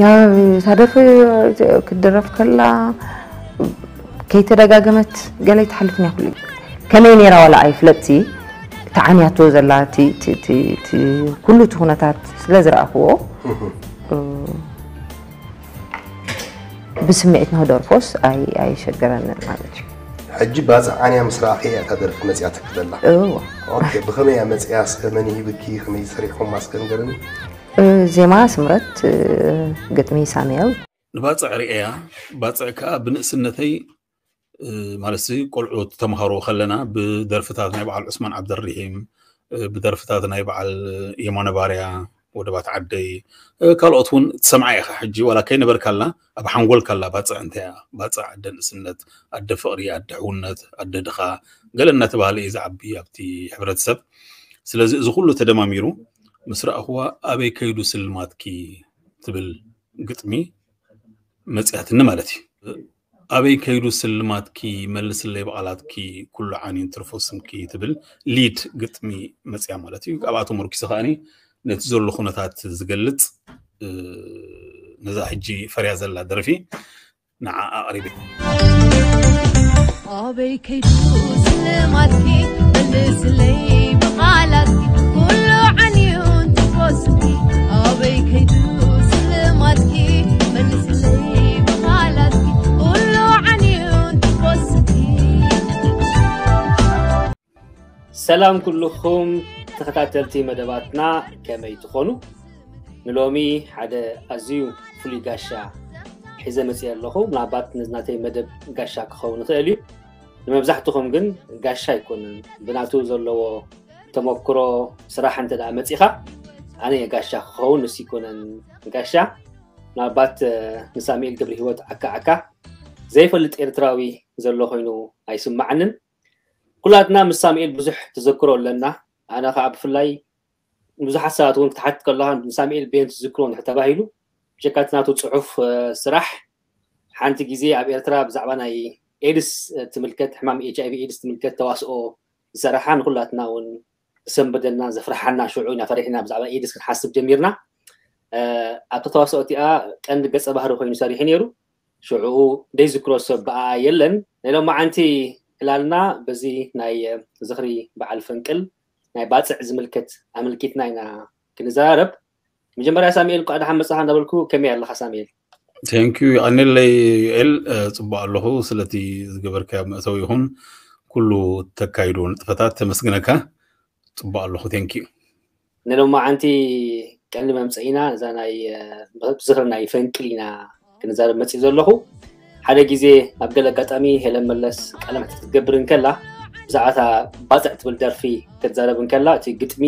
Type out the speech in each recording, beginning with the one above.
እታ ደርፊ ክትድረፍ ከላ ከይተደጋገመት ገለ ይትሓልፍን እያ። ኩሉ ከመይ ነይራ ዋላ ኣይፍለጥሲ፣ ተዓንያቶ ዘላ እቲ ኩሉ እቲ ኩነታት ስለ ዝረኣኽዎ፣ ብስምዒት ንክደርፎስ ኣይሸገረንን ማለት እዩ። ሕጂ ባፅዕ ዓንያ ምስ ረኣኸ እያ እታ ደርፊ መፅያ ትክደላ። እዎ። ኦኬ፣ ብኸመይ እያ መፅያ? እስከ መን ይሂብኪ? ከመይ ሰሪሕኩም? ኣስከንገርን። ዜማ ስምረት፣ ግጥሚ ሳሙኤል። ንባፅዕ ርእያ፣ ባፅዕ ከዓ ብንእስነተይ ማለት ሲ ቆልዑ ተምሃሮ ከለና ብደርፍታት ናይ በዓል ዑስማን ዓብደርሒም፣ ብደርፍታት ናይ በዓል የማነ ባርያ፣ ወደባት ዓደይ፣ ካልኦት እውን ትሰምዓ ኢኻ። ሕጂ ዋላ ከይነበርካላ ኣብ ሓንጎልካላ ባፅዕ እንታይ እያ? ባፅዕ ኣደ ንእስነት፣ ኣደ ፍቕሪ፣ ኣደ ሕውነት፣ ኣደ ድኻ ገለ እናተባህለ እዩ ዝዓቢ ኣብቲ ሕብረተሰብ። ስለዚ እዚ ኩሉ ተደማሚሩ ምስ ረኣኽዋ ኣበይ ከይዱ ስልማትኪ ትብል ግጥሚ መፅያትኒ ማለት እዩ። ኣበይ ከይዱ ስልማትኪ፣ መልስለይ ብቓላትኪ፣ ኩሉ ዓንዩን ትርፎ ስምኪ ትብል ሊድ ግጥሚ መፅያ ማለት እዩ። ካብኣ ተመርኪሰ ከዓኒ ነቲ ዘሎ ኩነታት ዝገልፅ ነዛ ሕጂ ፈርያ ዘላ ደርፊ ንዓ ኣቕሪበ። ኣበይ ከይዱ ስልማትኪ፣ መልስለይ ብቓላትኪ፣ ኩሉ ዓንዩን ትርፎ ስምኪ። ኣበይ ከይዱ ስልማትኪ፣ መልስለይ ብቓላትኪ፣ ኩሉ ዓንዩን ትርፎ ስምኪ። ሰላም ኩልኹም ተኸታተልቲ መደባትና፣ ከመይ ትኾኑ? ንሎሚ ሓደ ኣዝዩ ፍሉይ ጋሻ ሒዘ መፅየ ኣለኹ። ምናልባት ነዚ ናተይ መደብ ጋሻ ክኸውን ይኽእል እዩ። ንመብዛሕትኹም ግን ጋሻ ኣይኮንን። ብናቱ ዘለዎ ተመክሮ ስራሕ እንተ ደኣ መፂኻ፣ ኣነ እየ ጋሻ ክኸውን፣ ንሱ ኣይኮነን ጋሻ። ምናልባት ንሳሙኤል ገብረሂወት ዓካ ዓካ ዘይፈልጥ ኤርትራዊ ዘሎ ኮይኑ ኣይስማዓንን። ኩላትና ምስ ሳሙኤል ብዙሕ ተዘክሮ ኣለና። ኣነ ከዓ ብፍላይ ብዙሓት ሰባት እውን ክትሓትት ከለኻ ንሳሙኤል በየን ትዝክሮ እንድሕር ተባሂሉ፣ ብጀካ እቲ ናቱ ፅሑፍ ስራሕ፣ ሓንቲ ግዜ ኣብ ኤርትራ ብዛዕባ ናይ ኤድስ ትምልከት፣ ሕማም ኤች ኣይ ቪ ኤድስ ትምልከት ተዋስኦ ዝሰራሓ፣ ንኩላትና እውን ዘሰንበደና ዘፍርሓና፣ ሽዑ ኢና ፈሪሕና ብዛዕባ ኤድስ ክንሓስብ ጀሚርና። ኣብቲ ተዋስኦ እቲኣ ቀንዲ ገፀ ባህሪ ኮይኑ ሰሪሑ ነይሩ። ሽዑኡ ዘይዝክሮ ሰብ ብኣ የለን። ናይ ሎማዓንቲ ዕላልና በዚ ናይ ዝኽሪ በዓል ፈንቅል ናይ ባፅዕ ዝምልከት ኣመልኪትና ኢና ክንዘራረብ። መጀመርያ ሳሙኤል እንኳዕ ደሓን መፃኻ እንዳበልኩ፣ ከመይ ኣለኻ ሳሙኤል? ቴንኪዩ። ይቐንለይ ዩኤል። ፅቡቅ ኣለኹ። ስለቲ ዝገበርካዮ መእተዊ ይኹን ኩሉ ተካይዶ ንጥፈታት ተመስግነካ። ፅቡቅ ኣለኹ። ቴንኪዩ። ንሎማዓንቲ ቀንዲ መምፀኢና እዛ ናይ ዝኽሪ ናይ ፈንቅል ኢና ክንዛረብ መፅእ ዘለኹ። ሓደ ግዜ ኣብ ገለ ኣጋጣሚ ሄለን መለስ ቃለ መሕትት ክትገብር እንከላ፣ ብዛዕባ እታ ባፅዕ ትብል ደርፊ ክትዛረብ እንከላ፣ እቲ ግጥሚ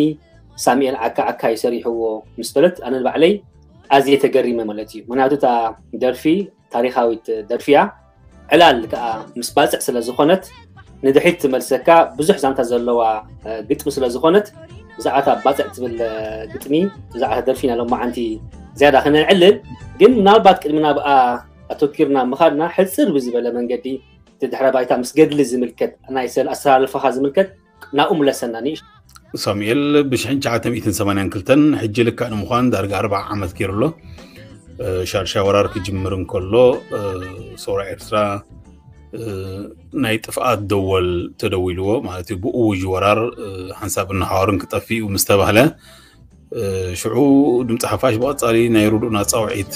ሳሙኤል ዓካ ዓካ ይሰሪሕዎ ምስ በለት፣ ኣነ ንባዕለይ ኣዝየ ተገሪመ ማለት እዩ። ምክንያቱ እታ ደርፊ ታሪኻዊት ደርፊ እያ። ዕላል ከዓ ምስ ባፅዕ ስለ ዝኾነት፣ ንድሕሪት ትመልሰካ፣ ብዙሕ ዛንታ ዘለዋ ግጥሚ ስለ ዝኾነት፣ ብዛዕባ እታ ባፅዕ ትብል ግጥሚ፣ ብዛዕባ እታ ደርፊ ኢና ሎማዓንቲ ዝያዳ ክነዕልል። ግን ምናልባት ቅድሚ ናብኣ ኣተኪርና ምኻድና፣ ሕፅር ብዝበለ መንገዲ እቲ ድሕረ ባይታ ምስ ገድሊ ዝምልከት፣ ናይ ሰል ኣሰላልፋኻ ዝምልከት ናብኡ ምለሰና ንእሽ። ሳሙኤል ብሽሕን ትሽዓተ ሚእትን ሰማንያን ክልተን ሕጂ ልክዕ ንምዃን ዳርጋ ኣርብዓ ዓመት ገይሩ ኣሎ። ሻድሻይ ወራር ክጅምር እንከሎ፣ ሰውራ ኤርትራ ናይ ጥፍኣት ደወል ተደዊልዎ ማለት እዩ። ብእውጅ ወራር ሓንሳብ እናሓዋሩን ክጠፍእ እዩ ምስ ተባህለ፣ ሽዑ ድምፂ ሓፋሽ ብቐፃሊ ናይ ርዱእና ፃውዒት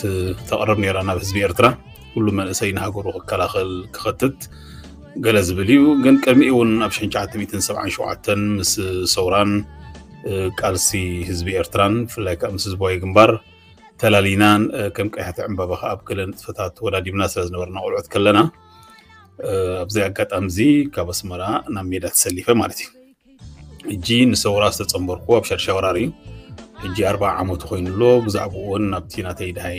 ተቕርብ ነይራ ናብ ህዝቢ ኤርትራ። ኩሉ መንእሰይ ንሃገሩ ክከላኸል ክኸትት ገለ ዝብል እዩ። ግን ቅድሚኡ እውን ኣብ ሽሕን ትሽዓተ ሚእትን ሰብዓን ሸውዓተን ምስ ሰውራን ቃልሲ ህዝቢ ኤርትራን ብፍላይ ከዓ ምስ ህዝባዊ ግንባር ተላሊናን ከም ቀያሕቲ ዕምባባ ከዓ ኣብ ገለ ንጥፈታት ተወዳዲብና ስለ ዝነበርና ቆልዑት ከለና፣ ኣብዚ ኣጋጣሚ እዚ ካብ ኣስመራ ናብ ሜዳ ተሰሊፈ ማለት እዩ። ሕጂ ንሰውራ ዝተፀንበርኩ ኣብ ሻድሻይ ወራር እዩ። ሕጂ ኣርብዓ ዓመቱ ኮይኑ ኣሎ። ብዛዕባኡ እውን ኣብቲ ናተይ ድሃይ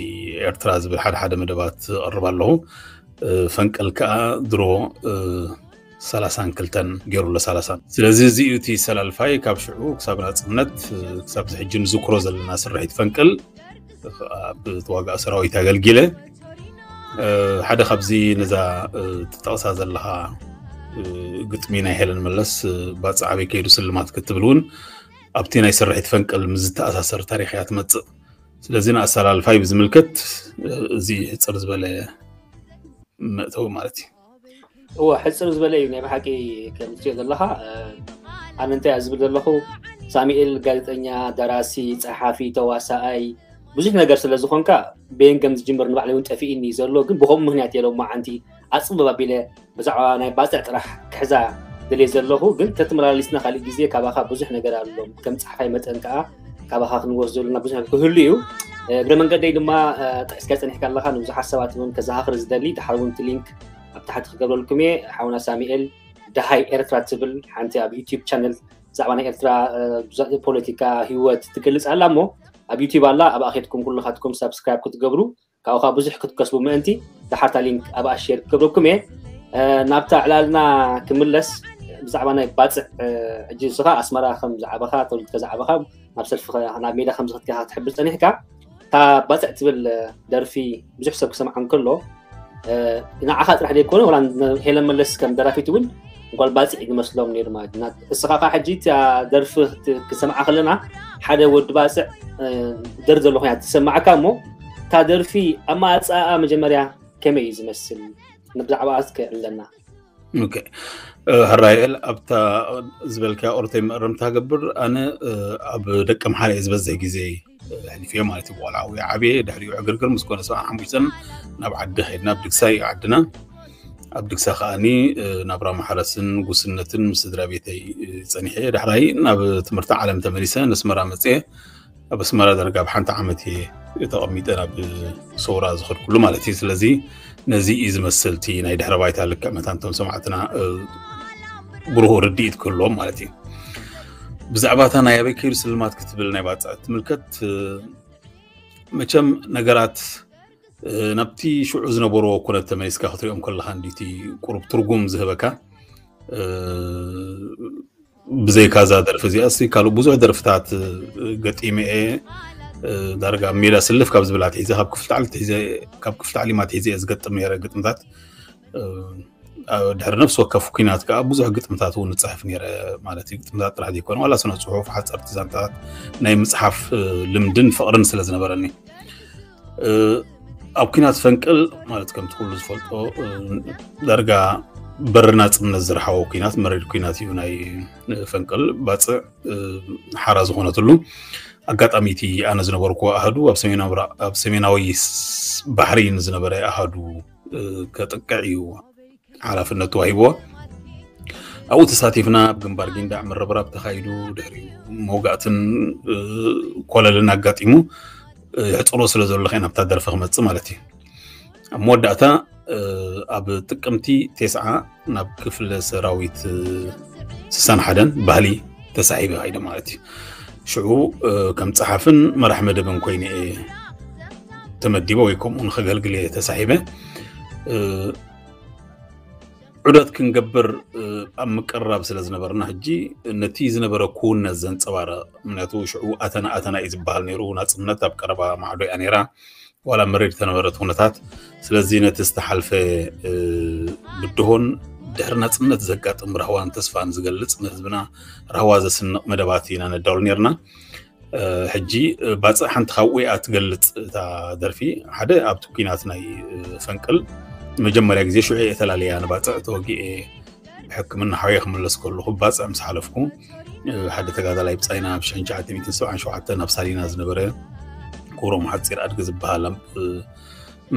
ኤርትራ ዝብል ሓደ ሓደ መደባት እቕርብ ኣለኹ። ፈንቅል ከዓ ድሮ ሰላሳን ክልተን ገይሩ ኣሎ፣ ሰላሳን። ስለዚ እዚ እዩ እቲ ሰላልፋይ። ካብ ሽዑ ክሳብ ናፅነት፣ ክሳብ ሕጂ ንዝክሮ ዘለና ስርሒት ፈንቅል ኣብ ተዋጋኢ ሰራዊት ኣገልጊለ። ሓደ ካብዚ ነዛ ትጠቕሳ ዘለኻ ግጥሚ ናይ ሄለን መለስ፣ ባፅዕ ኣበይ ከይዱ ስልማት ክትብል እውን ኣብቲ ናይ ስርሒት ፈንቅል ምስ ዝተኣሳሰር ታሪኽ እያ ትመፅእ። ስለዚ ንኣሰላልፋይ ብዝምልከት እዚ ሕፅር ዝበለ መእተዊ ማለት እዩ። እወ፣ ሕፅር ዝበለ እዩ ናይ ብሓቂ። ከም ትሪኦ ዘለኻ፣ ኣነ እንታይ ዝብል ዘለኹ፣ ሳሙኤል ጋዜጠኛ፣ ደራሲ፣ ፀሓፊ፣ ተዋሳኣይ፣ ብዙሕ ነገር ስለ ዝኾንካ፣ በየን ከም ዝጅምር ንባዕለይ እውን ጠፊእኒ ዘሎ። ግን ብኸምኡ ምክንያት የለ መዓንቲ ኣፅብብ ኣቢለ ብዛዕባ ናይ ባፅዕ ጥራሕ ክሕዛ ደልየ ዘለኹ። ግን ተትመላሊስና ካሊእ ግዜ ካባኻ ብዙሕ ነገር ኣሎ። ከም ፀሓፋይ መጠን ከዓ ካባኻ ክንወስ ዘለና ብዙሕ ነገር ክህሉ እዩ። እግረ መንገደይ ድማ ጠቂስካ ፀኒሕካ ኣለኻ፣ ንብዙሓት ሰባት እውን ከዘኻኽር ዝደሊ፣ ድሓር እውን እቲ ሊንክ ኣብ ታሕቲ ክገብረልኩም እየ። ሓውና ሳሙኤል ደሃይ ኤርትራ ትብል ሓንቲ ኣብ ዩቲዩብ ቻነል ብዛዕባ ናይ ኤርትራ ፖለቲካ ህይወት ትገልፅ ኣላ እሞ ኣብ ዩቲዩብ ኣላ። ኣብኣ ኬድኩም ኩልኻትኩም ሳብስክራይብ ክትገብሩ ካብኡ ከዓ ብዙሕ ክትከስቡ ምእንቲ ድሓርታ ሊንክ ኣብኣ ሼር ክገብረኩም እየ። ናብታ ዕላልና ክምለስ፣ ብዛዕባ ናይ ባፅዕ፣ ሕጂ ንስኻ ኣስመራ ከም ዝዓበኻ፣ ተወሊድካ ዝዓበኻ፣ ናብ ሰልፊ ናብ ሜዳ ከም ዝኸድካ ክትሕብር ፀኒሕካ። እታ ባፅዕ ትብል ደርፊ ብዙሕ ሰብ ክሰምዓ እንከሎ፣ ንዓኻ ጥራሕ ዘይኮነ፣ ወላ ሄለን መለስ ከም ደራፊት እውን ጓል ባፅዕ ዝመስሎም ነይሩ ማለት እዩ። እስኻ ከዓ ሕጂ እታ ደርፊ ክሰምዓ ከለና ሓደ ወዲ ባፅዕ ደር ዘሎ ኮይና ትሰማዓካ እሞ፣ እታ ደርፊ ኣማፃኣ መጀመርያ ከመይ እዩ ዝመስል? ብዛዕባ እስከ ኣለና። ሕራይኤል ኣብታ ዝበልካ ኦርተይ መእረምታ ገብር። ኣነ ኣብ ደቂ ምሓረ ዝበዝሕ ግዜ ሕሊፍዮ ማለት እዩ። ቆልዓ ወይ ዓብየ ድሕሪኡ ዕግርግር ምስ ኮነ ሰብዓ ሓሙሽተን ናብ ዓዲ ከይድና ኣብ ድግሳ እዩ ዓድና። ኣብ ድግሳ ከዓኒ ናብራ ማሕረስን ጉስነትን ምስ ስድራ ቤተይ ፀኒሐ። ዳሕራይ ናብ ትምህርቲ ዓለም ተመሊሰ ነስመራ መፅየ። ኣብ ኣስመራ ዳርጋ ኣብ ሓንቲ ዓመት እየ ተቐሚጠ ናብ ሰውራ ዝኸድኩሉ ማለት እዩ። ስለዚ ነዚ እዩ ዝመስል እቲ ናይ ድሕረ ባይታ ልክዕ መታን እቶም ሰማዕትና ብሩህ ርድኢት ክህልዎም ማለት እዩ። ብዛዕባ እታ ናይ ኣበይ ከይዱ ስልማት ክትብል ናይ ባፅዕ ትምልከት፣ መቸም ነገራት ናብቲ ሽዑ ዝነበርዎ ኩነት ተመሊስካ ክትሪኦም ከለካ እንዲቲ ቁሩብ ትርጉም ዝህበካ። ብዘይካ እዛ ደርፊ እዚኣ ሲ ካልእ ብዙሕ ደርፍታት ገጢመ እየ። ዳርጋ ሜዳ ስልፍ ካብ ዝብላ ትሒዘ፣ ካብ ክፍልቲ ዓሊ ትሒዘ፣ ካብ ክፍልቲ ዓሊማ ትሒዘ እየ ዝገጥም ነይረ ግጥምታት። ድሕሪ ነፍሲ ወከፍ ኩናት ከዓ ብዙሕ ግጥምታት እውን እፅሕፍ ነይረ ማለት እዩ። ግጥምታት ጥራሕ ዘይኮነ ዋላ ስነ ፅሑፍ፣ ሓፀርቲ ዛንታታት ናይ ምፅሓፍ ልምድን ፍቕርን ስለ ዝነበረኒ። ኣብ ኩናት ፈንቅል ማለት ከምቲ ኩሉ ዝፈልጦ ዳርጋ በሪ ናፅነት ዝረሓቦ ኩናት፣ መሪር ኩናት እዩ ናይ ፈንቅል። ባፅዕ ሓራ ዝኾነትሉ ኣጋጣሚ እቲ ኣነ ዝነበርኩ ኣሃዱ ኣብ ሰሜናዊ ባሕሪ ንዝነበረ ኣሃዱ ከጥቅዕ እዩ ሓላፍነት ተዋሂብዎ። ኣብኡ ተሳቲፍና ኣብ ግንባር ጊንዳዕ ምርብራብ ተኻይዱ፣ ድሕሪኡ መውጋእትን ኮለልን ኣጋጢሙ ሕፅሮ ስለ ዘሎ ከ ናብታ ደርፊ ክመፅእ ማለት እዩ። ኣብ መወዳእታ ኣብ ጥቅምቲ ቴስዓ ናብ ክፍለ ሰራዊት ስሳን ሓደን ባህሊ ተሳሒበ ከይደ ማለት እዩ። ሽዑ ከም ፀሓፍን መራሕ መደብን ኮይነ እየ ተመዲበ ወይ ከምኡ ንኸገልግል እየ ተሳሒበ። ዑደት ክንገብር ኣብ ምቅርራብ ስለ ዝነበርና ሕጂ ነቲ ዝነበረ ክውነት ዘንፀባረቕ፣ ምክንያቱ ሽዑ ኣተና ኣተና እዩ ዝበሃል ነይሩ። ናፅነት ኣብ ቀረባ ማዕዶ እያ ነይራ ዋላ መሪር ተነበረት ኩነታት። ስለዚ ነቲ ዝተሓልፈ ብድሆን ድሕሪ ናፅነት ዘጋጥም ራህዋን ተስፋን ዝገልፅ ንህዝብና ራህዋ ዘስንቕ መደባት ኢና ነዳሉ ነርና። ሕጂ ባፅዕ ሓንቲ ካብኡ እያ ትገልፅ እታ ደርፊ። ሓደ ኣብቲ ኩናት ናይ ፈንቅል መጀመርያ ግዜ ሽዑ እየ ተላለያ ንባፅዕ ተወጊኤ ሕክምና ሓውየ ክምለስ ከለኹ ባፅዕ ምስ ሓለፍኩ ሓደ ተጋዳላይ ብፃይና ኣብ ሽሕን ትሽዓተ ሚእትን ሰብዓን ሸውዓተን ኣብ ሳሊና ዝነበረ ክብሮም ሓፂር ኣድጊ ዝበሃል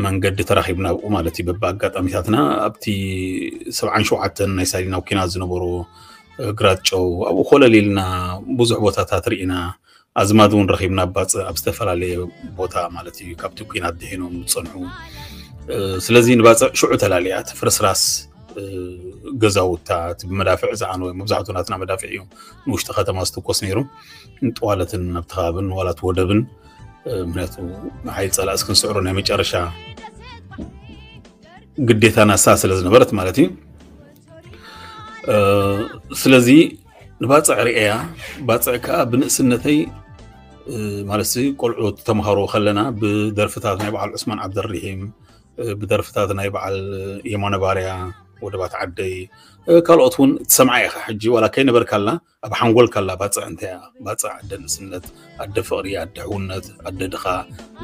መንገዲ ተራኺብና ኣብኡ ማለት እዩ። በብኣጋጣሚታትና ኣብቲ ሰብዓን ሸውዓተን ናይ ሳሊና ኩናት ዝነበሩ ግራት ጨው ኣብኡ ኮለል ኢልና ብዙሕ ቦታታት ርኢና ኣዝማድ እውን ረኺብና ባፅዕ ኣብ ዝተፈላለየ ቦታ ማለት እዩ ካብቲ ኩናት ድሒኖም ዝፀንሑ። ስለዚ ንባፅዕ ሽዑ ተላልያ እቲ ፍርስራስ ገዛውታ እቲ ብመዳፍዕ ዝዓነወ መብዛሕትኡ ናትና መዳፍዕ እዩ ንውሽጢ ከተማ ዝትኮስ ነይሩ። ንጠዋለትን ኣብቲ ከባብን ዋላት ወደብን ምክንያቱ ንሓይ ፀላእስ ክንስዕሮ ናይ መጨረሻ ግዴታ ናሳ ስለ ዝነበረት ማለት እዩ። ስለዚ ንባፅዕ ርእያ፣ ባፅዕ ከዓ ብንእስነተይ ማለት ቆልዑ ተምሃሮ ከለና ብደርፍታት ናይ በዓል ዑስማን ዓብደርሒም፣ ብደርፍታት ናይ በዓል የማነ ባርያ፣ ወደባት ዓደይ፣ ካልኦት እውን ትሰምዓ ኢኻ። ሕጂ ዋላ ከይነበርካላ ኣብ ሓንጎልካላ ባፅዕ እንታይ እያ? ባፅዕ ኣደ ንእስነት፣ ኣደ ፍቕሪ፣ ኣደ ሕውነት፣ ኣደ ድኻ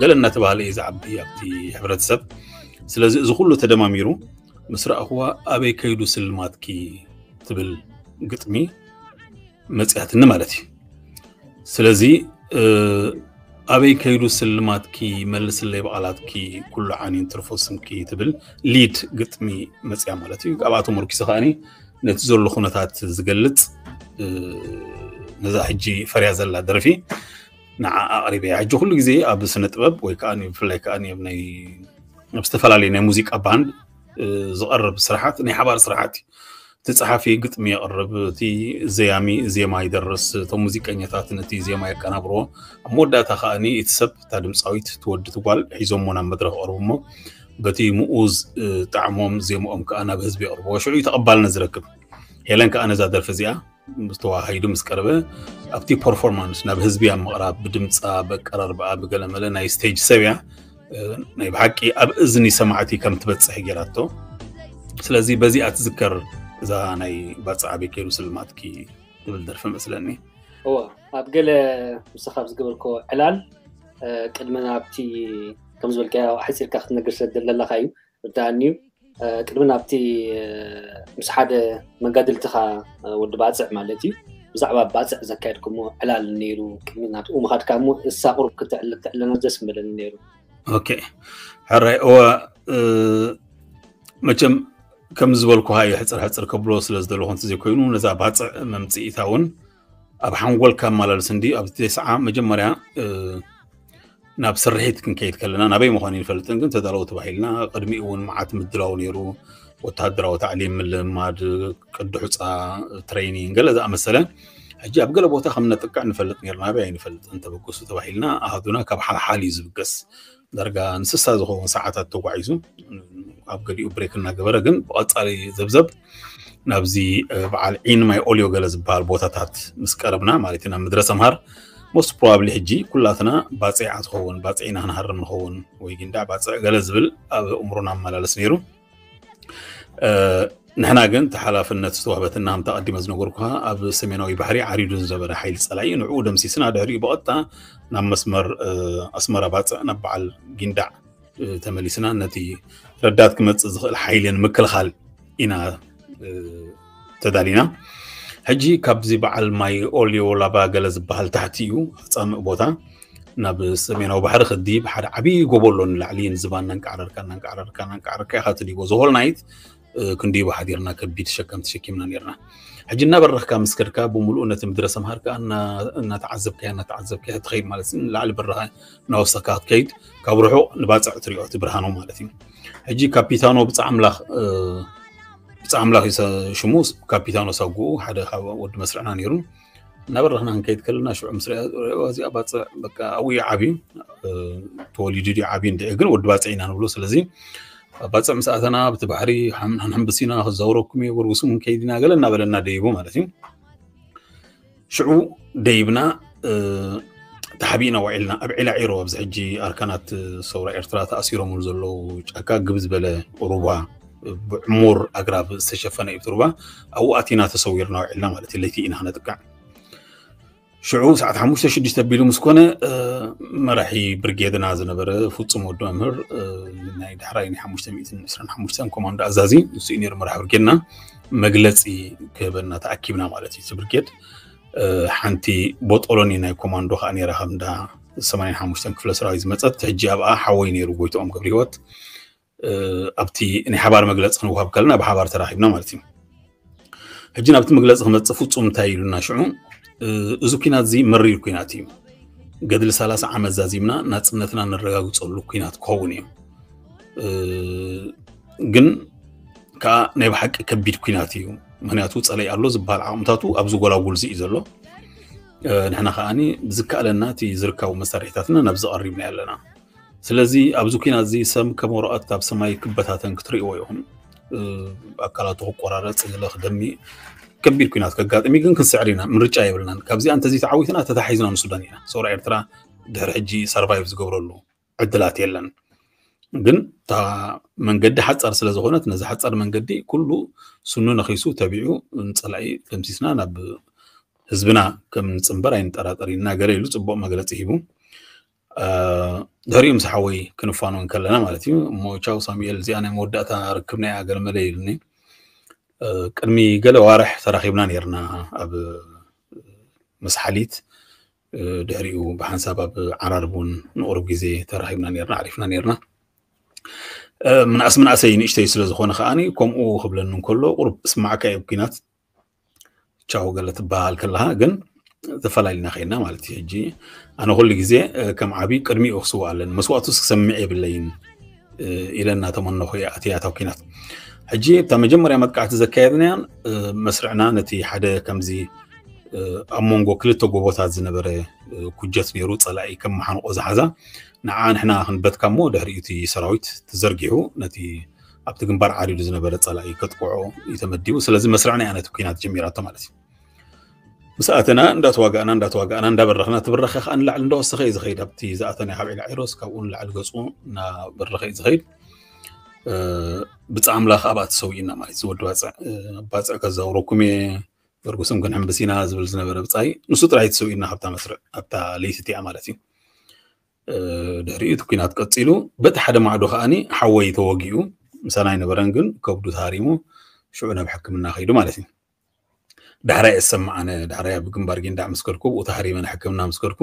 ገለ እናተባህለ እዩ ዝዓቢ ኣብቲ ሕብረተሰብ። ስለዚ እዚ ኩሉ ተደማሚሩ ምስ ረኣኽዋ ኣበይ ከይዱ ስልማትኪ ትብል ግጥሚ መፅያትኒ ማለት እዩ። ስለዚ ኣበይ ከይዱ ስልማትኪ፣ መልስለይ ብቓላትኪ፣ ኩሉ ዓንዩን ትርፎ ስምኪ ትብል ሊድ ግጥሚ መፅያ ማለት እዩ። ኣብኣ ተመርኪሰ ከዓኒ ነቲ ዘሎ ኩነታት ዝገልፅ ነዛ ሕጂ ፈርያ ዘላ ደርፊ ንዓ ኣቕሪበያ። ሕጂ ኩሉ ግዜ ኣብ ስነ ጥበብ ወይ ከዓ ብፍላይ ከዓ ኣብ ናይ ኣብ ዝተፈላለዩ ናይ ሙዚቃ ባንድ ዝቐርብ ስራሓት ናይ ሓባር ስራሓት እዩ። እቲ ፀሓፊ ግጥሚ የቕርብ፣ እቲ ዘያሚ ዜማ ይደርስ፣ እቶም ሙዚቀኛታት ነቲ ዜማ የቀናብርዎ። ኣብ መወዳእታ ከዓኒ እቲ ሰብ እታ ድምፃዊት ትወዲ ትጓል ሒዞሞ ናብ መድረክ ቀርቡ እሞ በቲ ምኡዝ ጣዕሞም ዜምኦም ከዓ ናብ ህዝቢ የቕርብዎ። ሽዑ እዩ ተቐባልነት ዝረክብ። ሄለን ከዓ ነዛ ደርፊ እዚኣ ምስ ተዋሃሂዱ ምስ ቀረበ ኣብቲ ፐርፎርማንስ ናብ ህዝቢ ኣብ ምቕራብ ብድምፃ ብኣቀራርባኣ ብገለመለ ናይ ስቴጅ ሰብ እያ። ናይ ብሓቂ ኣብ እዝኒ ሰማዕቲ ከም ትበፅሕ ገይራቶ። ስለዚ በዚኣ ትዝከር እዛ ናይ ባፅዕ ኣበይ ከይዱ ስልማትኪ ትብል ደርፊ መስለኒ። እወ ኣብ ገለ ምሳኻ ኣብ ዝገበርኮ ዕላል ቅድሚ ናብቲ ከም ዝበልካዮ ሓፂርካ ክትነግር ስለ ዘለካ እዩ። ርዳኣኒ እዩ። ቅድሚ ናብቲ ምስ ሓደ መጋድልትኻ ወዲ ባፅዕ ማለት እዩ ብዛዕባ ባፅዕ ዘካየድኩሞ ዕላል ነይሩ። ቅድሚ ናብኡ ምኻድካ እሞ እሳ ቁሩብ ክትዕለና ደስ ምበለኒ ነይሩ። ኦኬ ሕራይ እወ መቸም ከም ዝበልኩ ሃየ ሕፅር ሕፅር ከብሎ ስለ ዝደለኹ እንተዘይኮይኑ ነዛ ባፅዕ መምፅኢታ እውን ኣብ ሓንጎልካ ኣመላልስ እንዲ ኣብ ተስዓ መጀመርያ ናብ ስርሒት ክንከይድ ከለና ናበይ ምዃኑ ይንፈልጥን ግን ተዳለዉ ተባሂልና ቅድሚኡ እውን መዓት ምድላው ነይሩ። ወተሃደራዊ ታዕሊም ምልማድ ቅዲ ሑፃ ትሬኒንግ ገለ ዝኣመሰለ ሕጂ ኣብ ገለ ቦታ ከም ነጥቅዕ ንፈልጥ ነርና ናበይ ኣይንፈልጥን ተበገሱ ተባሂልና ኣሃዱና ካብ ሓልሓል እዩ ዝብገስ። ዳርጋ ንስሳ ዝኸውን ሰዓታት ተጓዒዙ ኣብ ገሊኡ ብሬክ እናገበረ ግን ብቐፃሊ ዘብዘብ ናብዚ በዓል ዒን ማይ ኦልዮ ገለ ዝበሃል ቦታታት ምስ ቀረብና ማለት እዩ ናብ ምድረ ሰምሃር most probably ሕጂ ኩላትና ባፅዕ ትኸውን ባፅዕ ኢና ክንሃርም ንኸውን ወይ ጊንዳዕ ባፅዕ ገለ ዝብል ኣብ እምሮና ኣመላለስ ነይሩ። ንሕና ግን እቲ ሓላፍነት ዝተዋህበትና ከምቲ ኣቐዲመ ዝነገርኩኻ ኣብ ሰሜናዊ ባሕሪ ዓሪዱ ዝነበረ ሓይሊ ፀላኢ ንዕኡ ደምሲስና ድሕሪኡ ብቐጥታ ናብ መስመር ኣስመራ ባፅዕ ናብ በዓል ጊንዳዕ ተመሊስና ነቲ ረዳት ክመፅእ ዝኽእል ሓይሊ ንምክልኻል ኢና ተዳሊና። ሕጂ ካብዚ በዓል ማይ ኦልዮ ላባ ገለ ዝበሃል ታሕቲ እዩ ኣፃምእ ቦታ ናብ ሰሜናዊ ባሕሪ ክዲ ብሓደ ዓብዪ ጎቦ ኣሎ ንላዕሊ ንዝባ እናንቃዕረርካ እናንቃዕረርካ እናንቃዕረርካ ኢኻ ትድይቦ the whole night ክንድይቦ ሓዲርና ከቢድ ሸከም ተሸኪምና ነርና። ሕጂ እናበረኽካ ምስ ከድካ ብምሉኡ ነቲ ምድረ ሰምሃር ከዓ እናተዓዘብካያ እናተዓዘብካያ ትኸይድ ማለት ንላዕሊ በረኻ እናወሰካ ክትከይድ ካብ ርሑቕ ንባፅዕ ትሪኦ እቲ ብርሃኖ ማለት እዩ። ሕጂ ካፒታኖ ብፃ ኣምላኽ ብፃ ኣምላኽ እዩ ሽሙ ካፒታኖ ሳጉኡ ሓደ ካብ ወዲ መስርዕና ነይሩ። እናበረኽና ክንከይድ ከለና ሽዑ ምስ እዚኣ ባፅዕ በቃ ኣብኡ እዩ ዓብዩ ተወሊዱ ድዩ ዓብዩ እንድዒ ግን ወዲ ባፅዕ ኢና ንብሎ ስለዚ ባፅዕ ምስ ኣተና ብቲ ባሕሪ ሕንብሲና ክዛውረኩም እዩ ጎርጉስም ክንከይድ ኢና ገለ እናበለና ደይቡ ማለት እዩ። ሽዑ ደይብና ተሓቢእና ውዒልና ኣብ ዒላ ዒሮ ኣብዚ ሕጂ ኣርካናት ሰውራ ኤርትራ ተኣሲሮምሉ ዘለዉ ጫካ ግብ ዝበለ ሩባ ብዕሙር ኣግራብ ዝተሸፈነ እዩ ሩባ ኣብኡ ኣቲና ተሰዊርና ውዒልና ማለት እዩ ለይቲ ኢና ክነጥቅዕ። ሽዑ ሰዓት ሓሙሽተ ሽዱሽተ ኣቢሉ ምስ ኮነ መራሒ ብርጌድና ዝነበረ ፍፁም ወዲ መምህር ናይ ዳሕራይ ናይ ሓሙሽተ ሚእትን ዕስራን ሓሙሽተን ኮማንዶ ኣዛዚ ንሱ እዩ ነይሩ መራሒ ብርጌድና መግለፂ ክህበና ተኣኪብና ማለት እዩ እቲ ብርጌድ ሓንቲ ቦጦሎኒ ናይ ኮማንዶ ከዓ ነይራ ከም እንዳ ሰማንያን ሓሙሽተን ክፍለ ሰራዊት ዝመፀት ሕጂ ኣብኣ ሓወይ ነይሩ ጎይትኦም ገብረ ህይወት ኣብቲ ናይ ሓባር መግለፂ ክንወሃብ ከለና ብሓባር ተራኺብና ማለት እዩ። ሕጂ ናብቲ መግለፂ ክመፅእ ፍፁም እንታይ ኢሉና ሽዑ እዚ ኩናት እዚ መሪር ኩናት እዩ። ገድሊ ሰላሳ ዓመት ዛዚምና ናፅነትና ነረጋግፀሉ ኩናት ክኸውን እዩ። ግን ከዓ ናይ ብሓቂ ከቢድ ኩናት እዩ። ምክንያቱ ፀለይ ኣሎ ዝበሃል ዓቕምታቱ ኣብዚ ጎላጉል እዚ እዩ ዘሎ። ንሕና ከዓኒ ብዝከኣለና እቲ ዝርካቡ መሳርሒታትና ናብዚ ቀሪብና ኣለና። ስለዚ ኣብዚ ኩናት እዚ ሰብ ከም ወረቐት ካብ ሰማይ ክበታተን ክትርእይዎ ኢኹም። ኣካላቱ ክቆራረፅ ገለ ክደሚ ከቢድ ኩናት ከጋጥም እዩ ግን ክንስዕር ኢና ምርጫ የብልናን። ካብዚኣ እንተዘይተዓዊትና ተታሒዝና ንሱዳን ኢና። ሰውራ ኤርትራ ድሕሪ ሕጂ ሰርቫይቭ ዝገብረሉ ዕድላት የለን። ግን እታ መንገዲ ሓፃር ስለ ዝኾነት ነዚ ሓፃር መንገዲ ኩሉ ስኑ ነኺሱ ተቢዑ ንፀላኢ ደምሲስና ናብ ህዝብና ከም ንፅንበር ኣይንጠራጠር ኢና ገለ ኢሉ ፅቡቕ መግለፂ ሂቡ። ድሕሪኡ ምስ ሓወይ ክንፋኖ እንከለና ማለት እዩ። እሞ ቻው ሳሙኤል፣ እዚኣ ናይ መወዳእታ ርክብና እያ ገለመለ ኢሉኒ። ቅድሚ ገለ ዋርሕ ተራኺብና ነርና ኣብ መስሓሊት። ድሕሪኡ ብሓንሳብ ኣብ ዓራርብ እውን ንቑሩብ ግዜ ተራኺብና ነርና፣ ዓሪፍና ነርና። ምንኣስ ምንኣሰይ ንእሽተይ ስለ ዝኾነ ከዓኒ ከምኡ ክብለኒ እንከሎ ቁሩብ እስማዕካ እየ ብኲናት ቻው ገለ ትበሃል ከለኻ ግን ተፈላሊና ከይና ማለት እዩ። ሕጂ ኣነ ኩሉ ግዜ ከም ዓብዪ ቅድሚኡ ክስዋእ ኣለኒ፣ መስዋእቱስ ክሰምዕ የብለይን ኢለ እናተመነኹ እየ ኣትያ እታ ኲናት። ሕጂ እታ መጀመርያ መጥቃዕቲ ዘካየድናያን መስርዕና ነቲ ሓደ ከምዚ ኣብ መንጎ ክልተ ጎቦታት ዝነበረ ኩጀት ነይሩ፣ ፀላኢ ከም መሓንቆ ዝሓዛ፣ ንዓ ንሕና ክንበትካ እሞ ድሕሪኡ እቲ ሰራዊት ተዘርጊሑ ነቲ ኣብቲ ግንባር ዓሪዱ ዝነበረ ፀላኢ ከጥቅዖ እዩ ተመዲቡ። ስለዚ መስርዕና እያ ነቲ ኲናት ጀሚራቶ ማለት እዩ። ምስ ኣተና እንዳተዋጋእና እንዳተዋጋእና እንዳበረኽና፣ እቲ ብረኸ ከዓ ንላዕሊ እንዳወሰኸ እዩ ዝኸይድ። ኣብቲ ዝኣተናዮ ካብ ዒላ ዒሮስ ካብኡ ንላዕሊ ገፁ እናበረኸ እዩ ዝኸይድ። ብፃ ኣምላኽ ኣብኣ ተሰዊእና ማለት እዩ። ዝወዲ ባፅዕ ባፅዕ ከዛውረኩም እየ፣ ገርጉስም ክንሕምብስ ኢና ዝብል ዝነበረ ብፃይ ንሱ ጥራይ ተሰዊእና ካብታ መስርዕ ኣብታ ለይቲ እቲኣ ማለት እዩ። ድሕሪኡ እቲ ኲናት ቀፂሉ፣ በቲ ሓደ ማዕዶ ከዓኒ ሓወይ ተወጊኡ ምሳና ኣይነበረን፣ ግን ከብዱ ተሃሪሙ ሽዑ ናብ ሕክምና ከይዱ ማለት እዩ። ዳሕራይ እሰማዕ ኣነ ዳሕራይ ኣብ ግንባር ጊንዳዕ ምስ ከድኩ ብኡ ተሃሪመ ንሕክምና ምስ ከድኩ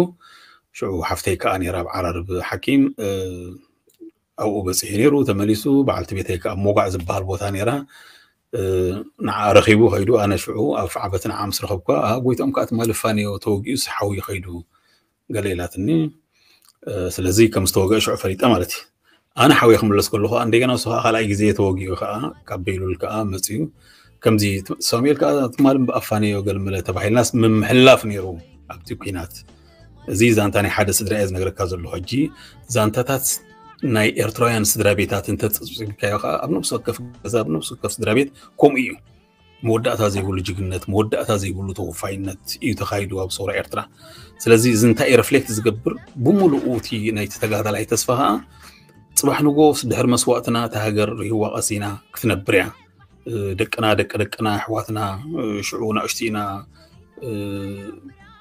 ሽዑ ሓፍተይ ከዓ ነይራ ኣብ ዓራርብ ሓኪም ኣብኡ በፂሑ ነይሩ። ተመሊሱ በዓልቲ ቤተይ ከዓ ሞጓዕ ዝበሃል ቦታ ነይራ፣ ንዓ ረኺቡ ከይዱ። ኣነ ሽዑ ኣብ ፍዓበት ንዓ ምስ ረኸብኳ ጎይቶም ከዓ ትማሊ ፋንዮ ተወጊኡ ሓውዩ ከይዱ ገለ ኢላትኒ። ስለዚ ከም ዝተወግአ ሽዑ ፈሊጠ ማለት እዩ። ኣነ ሓውየ ክምለስ ከለኹ እንደገና ንሱ ከዓ ካልኣይ ግዜ ተወጊኡ ከዓ ካብ ቤይሉል ከዓ መፅዩ። ከምዚ ሳሙኤል ከዓ ትማሊ ብኣፋንዮ ገልመለ ተባሂልናስ ምምሕላፍ ነይሩ ኣብቲ ኲናት። እዚ ዛንታ ናይ ሓደ ስድራ እየ ዝነግረካ ዘለኹ። ሕጂ ዛንታታት ናይ ኤርትራውያን ስድራ ቤታት እንተፅብፅብካዮ ከዓ ኣብ ነብሲ ወከፍ ገዛ ኣብ ነብሲ ወከፍ ስድራ ቤት ከምኡ እዩ። መወዳእታ ዘይብሉ ጅግነት፣ መወዳእታ ዘይብሉ ተወፋይነት እዩ ተኻይዱ ኣብ ሰውራ ኤርትራ። ስለዚ እዚ እንታይ እዩ ሪፍሌክት ዝገብር? ብምሉኡ እቲ ናይቲ ተጋዳላይ ተስፋ ከዓ ፅባሕ ንጎስ ድሕሪ መስዋእትና እታ ሃገር ርህዋ ቀሲና ክትነብር እያ። ደቅና ደቂ ደቅና ኣሕዋትና ሽዑ ናእሽቱ ኢና።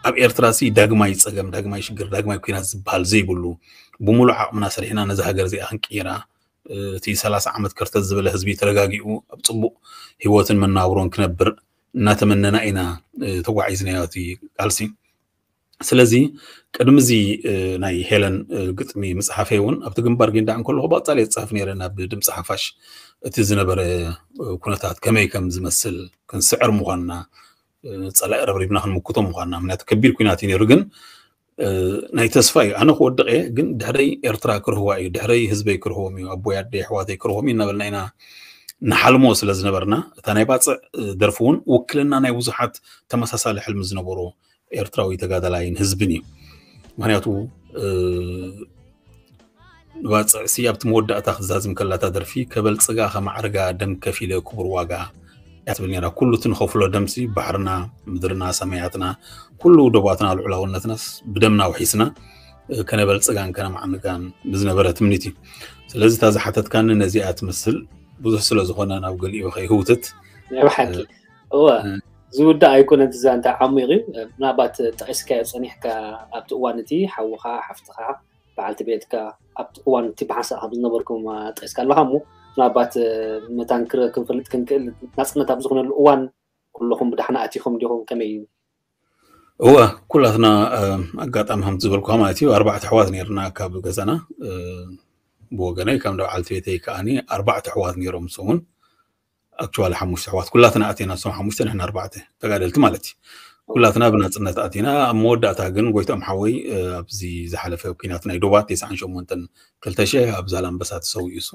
ኣብ ኤርትራ ሲ ዳግማይ ፀገም፣ ዳግማይ ሽግር፣ ዳግማይ ኲናት ዝበሃል ዘይብሉ፣ ብምሉእ ዓቕምና ሰሪሕና ነዛ ሃገር እዚኣ ክንቅይራ፣ እቲ ሰላሳ ዓመት ከርተት ዝበለ ህዝቢ ተረጋጊኡ ኣብ ፅቡቕ ህይወትን መናብሮን ክነብር እናተመነና ኢና ተጓዒዝናዮ እቲ ቃልሲ። ስለዚ ቅድሚ እዚ ናይ ሄለን ግጥሚ ምፅሓፈይ እውን ኣብቲ ግንባር ጊንዳዕ እንከለኹ ብቐፃሊ የፅሕፍ ነይረ ናብ ድምፂ ሓፋሽ እቲ ዝነበረ ኩነታት ከመይ ከም ዝመስል ክንስዕር ምዃንና፣ ፀላኢ ረብሪብና ክንምክቶ ምዃንና። ምክንያቱ ከቢድ ኩናት እዩ ነይሩ፣ ግን ናይ ተስፋ እዩ። ኣነ ክወድቕ እየ፣ ግን ድሕረይ ኤርትራ ክርህዋ እዩ፣ ድሕረይ ህዝበይ ክርህዎም እዩ፣ ኣቦይ ኣደይ ኣሕዋተይ ክርህዎም እዩ እናበልና ኢና ንሓልሞ ስለ ዝነበርና፣ እታ ናይ ባፅዕ ደርፊ እውን ውክልና ናይ ብዙሓት ተመሳሳሊ ሕልሚ ዝነበሮ ኤርትራዊ ተጋዳላይን ህዝብን እዩ። ምክንያቱ ንባፅዕሲ ኣብቲ መወዳእታ ክትዛዝም ከላታ ደርፊ ከበልፅጋ ከማዕርጋ ደም ከፊለ ክቡር ዋጋ እያ ትብል ነይራ። ኩሉ እቲ ንኸፍሎ ደምሲ ባሕርና፣ ምድርና፣ ሰማያትና፣ ኩሉ ዶባትና፣ ልዑላውነትናስ ብደምና ውሒስና ከነበልፅጋን ከነማዕንጋን ብዝነበረ ትምኒት እዩ። ስለዚ እታ ዝሓተትካኒ ነዚኣ ትመስል። ብዙሕ ስለ ዝኾነ ናብ ገሊኡ ከይህውትት። ናይ ብሓቂ እወ ዝውዳእ ኣይኮነን። እቲ ዛንታ ዓሚቕ እዩ። ምናልባት ጠቒስካዮ ጸኒሕካ ኣብቲ እዋን እቲ ሓውኻ ሓፍትኻ በዓልቲ ቤትካ ኣብቲ እዋን እቲ ብሓንሳእ ከም ዝነበርኩም ጠቂስካ ኣለካ እሞ ምናልባት መታን ክንፈልጥ ክንክእል ናፅነት ኣብ ዝኾነሉ እዋን ኩለኹም ብዳሕና ኣቲኹም ዲኹም ከመይ እዩ? እወ ኩላትና ኣጋጣሚ ከምቲ ዝበልኩካ ማለት እዩ ኣርባዕተ ኣሕዋት ነርና ካብ ገዛና ብወገነይ ካብ በዓልቲ ቤተይ ከዓኒ ኣርባዕተ ኣሕዋት ነይሮም ንሶም እውን ኣክቹዋሊ ሓሙሽተ ኣሕዋት ኩላትና ኣቲና እሶም ሓሙሽተ ንሕና ኣርባዕተ ተጋደልቲ ማለት እዩ ኩላትና ብናፅነት ኣቲና ኣብ መወዳእታ ግን ጎይቶም ሓወይ ኣብዚ ዝሓለፈ ኩናት ናይ ዶባት ተስዓን ሸሞንተን ክልተ ሽሕ ኣብ ዛላምበሳ ተሰዊኡ እሱ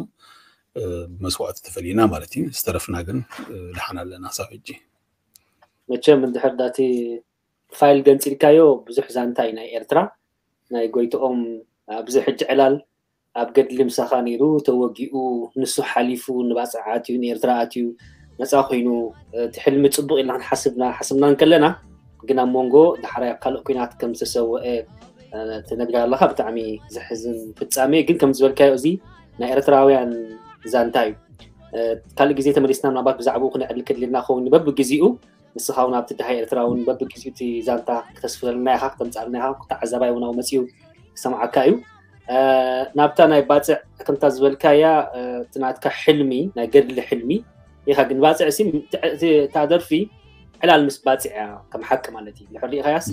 ብመስዋእቲ ተፈሊና ማለት እዩ ዝተረፍና ግን ደሓን ኣለና ሳብ ሕጂ መቸም እንድሕር ዳቲ ፋይል ገንፂልካዮ ብዙሕ ዛንታ እዩ ናይ ኤርትራ ናይ ጎይትኦም ኣብዚ ሕጂ ዕላል ኣብ ገድሊ ምሳኻ ነይሩ ተወጊኡ ንሱ ሓሊፉ ንባፅዕ ኣትዩ ንኤርትራ ኣትዩ ነፃ ኮይኑ እቲ ሕልሚ ፅቡቅ ኢልና ክንሓስብና ሓስብና እንከለና ግን ኣብ መንጎ ዳሕራይ ኣብ ካልእ ኩናት ከም ዝተሰወአ ትነግር ኣለካ ብጣዕሚ ዘሕዝን ፍፃሜ ግን ከም ዝበልካዮ እዚ ናይ ኤርትራውያን ዛንታ እዩ። ካልእ ግዜ ተመሊስና ምናልባት ብዛዕባኡ ክነዕልል ከድልየና ክኸውን እዩ። በብግዜኡ ንስኻ እውን ኣብቲ ድሃይ ኤርትራ እውን በብግዜኡ እቲ ዛንታ ክተስፍረልና ኢኻ፣ ክተምፅኣልና ኢኻ። ተዓዛባይ እውን ኣብኡ መፂኡ ክሰምዓካ እዩ። ናብታ ናይ ባፅዕ ከምታ ዝበልካያ እቲ ናትካ ሕልሚ ናይ ገድሊ ሕልሚ ኢኻ፣ ግን ባፅዕ ሲ እታ ደርፊ ዕላል ምስ ባፅዕ እያ፣ ከም ሓቂ ማለት እዩ። ንሕር ሪኢኻያስ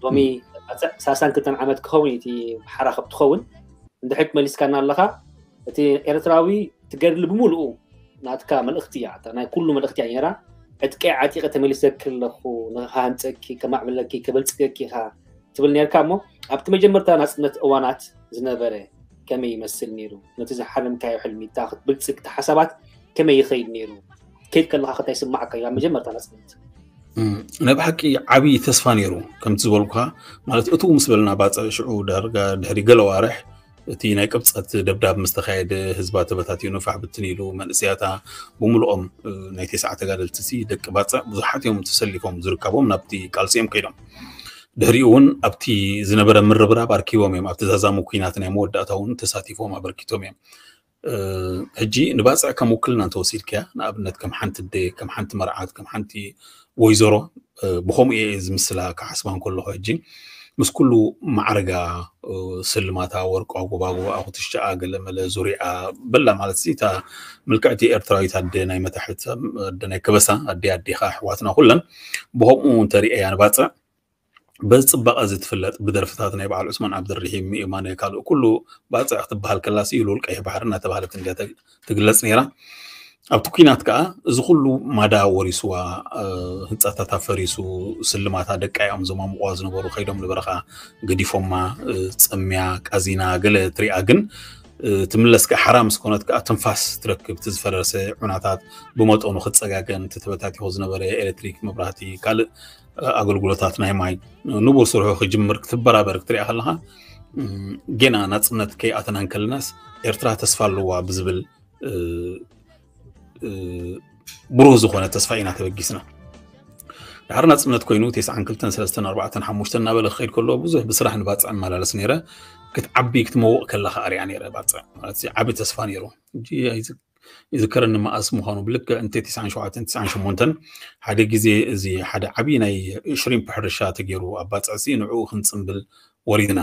ሎሚ ባፅዕ ሰላሳን ክልተን ዓመት ክኸውን እዩ እቲ ሓራ ከብ ትኸውን እንድሕር መሊስካና ኣለኻ። እቲ ኤርትራዊ ትገድሊ ብምሉኡ ናትካ መልእኽቲ እያ፣ ናይ ኩሉ መልእኽቲ እያ ነራ። ዕጥቀይ ዓጢቐ ተመሊሰ ክለኹ ንክሃንፀኪ ከማዕብለኪ ከበልፅገኪ ኢኻ ትብል ነርካ። እሞ ኣብቲ መጀመርታ ናፅነት እዋናት ዝነበረ ከመይ ይመስል ነይሩ? ነቲ ዝሓለምካዮ ሕልሚታ ክትብልፅግ እቲ ሓሳባት ከመይ ይኸይድ ነይሩ? ከይድ ከለኻ ከታይ ስማዓካ እዩ ኣብ መጀመርታ ናፅነት? ናይ ብሓቂ ዓብዪ ተስፋ ነይሩ። ከምቲ ዝበልኩኻ ማለት እቱ ምስ በልና ባፅዕ ሽዑ ዳርጋ ድሕሪ ገለ ዋርሕ እቲ ናይ ቅብፀት ደብዳብ ምስ ተኻየደ ህዝባ ተበታቲኑ ፋሕ ብትን ኢሉ መንእሰያታ ብምልኦም ናይ ተስዓ ተጋደልቲ ሲ ደቂ ባፅዕ ብዙሓት እዮም ተሰሊፎም ዝርከቦም ናብቲ ቃልሲ እዮም ከይዶም። ድሕሪኡ እውን ኣብቲ ዝነበረ ምርብራብ ኣርኪቦም እዮም። ኣብቲ ዛዛሙ ኩናት ናይ መወዳእታ እውን ተሳቲፎም ኣበርኪቶም እዮም። ሕጂ ንባፅዕ ከም ውክልና እንተወሲድካያ ንኣብነት ከም ሓንቲ ኣደ፣ ከም ሓንቲ መርዓት፣ ከም ሓንቲ ወይዘሮ ብከምኡ እየ ዝምስላ ክሓስባ እንከለኹ ሕጂ ምስ ኩሉ ማዕረጋ ስልማታ ወርቋ ጎባጎባ ኩትሻኣ ገለመለ ዙሪኣ በላ ማለት እታ ምልክዕቲ ኤርትራዊት ኣደ ናይ መታሕት ኣደ ናይ ከበሳ ኣደ ኣዴኻ ኣሕዋትና ኩለን ብከምኡ እንተሪአያ ንባፅዕ በዚ ፅባቐ እዚ ትፍለጥ ብደርፍታት ናይ በዓል ዑስማን ዓብደልርሒም የማነ ካልእ ኩሉ ባፅዕ ክትበሃል ከላሲ ልውል ቀይሕ ባሕሪ እናተባሃለት እንድያ ትግለፅ ነይራ። ኣብቲ ኩናት ከዓ እዚ ኩሉ ማዳ ወሪስዋ ህንፃታታ ፈሪሱ ስልማታ ደቃ እዮም ዘማምቕዋ ዝነበሩ ከይዶም ንበረኻ ገዲፎማ ፀምያ ቃዚና ገለ ትሪኣ ግን ትምለስ ከዓ ሓራ ምስ ኮነት ከዓ ትንፋስ ትረክብ እቲ ዝፈረሰ ዑናታት ብመጠኑ ክፀጋገን እቲ ተበታቲኹ ዝነበረ ኤሌክትሪክ መብራህቲ ካልእ ኣገልግሎታት ናይ ማይ ንቡር ስርሑ ክጅምር ክትበራበር ክትሪኣ ከለካ ጌና ናፅነት ከይኣተና እንከለናስ ኤርትራ ተስፋ ኣለዋ ብዝብል ብሩህ ዝኾነ ተስፋ ኢና ተበጊስና። ድሓር ናፅነት ኮይኑ ተስዓን ክልተን ሰለስተን ኣርባዕተን ሓሙሽተን እናበለ ክኸይድ ከሎ ብዙሕ ብስራሕ ንባፅዕ እመላለስ ነይረ። ክትዓቢ ክትመውቕ ከለካ ኣሪኣ ነይረ ባፅዕ ማለት ዓቢ ተስፋ ነይሩ። ይዝከረኒ መኣስ ምዃኑ ብልክዕ እንተ ተስዓን ሸውዓተን ተስዓን ሸሞንተን ሓደ ግዜ እዚ ሓደ ዓቢ ናይ ሽሪምፕ ሕርሻ ተገይሩ ኣብ ባፅዕሲ ንዕኡ ክንፅምብል ወሪድና።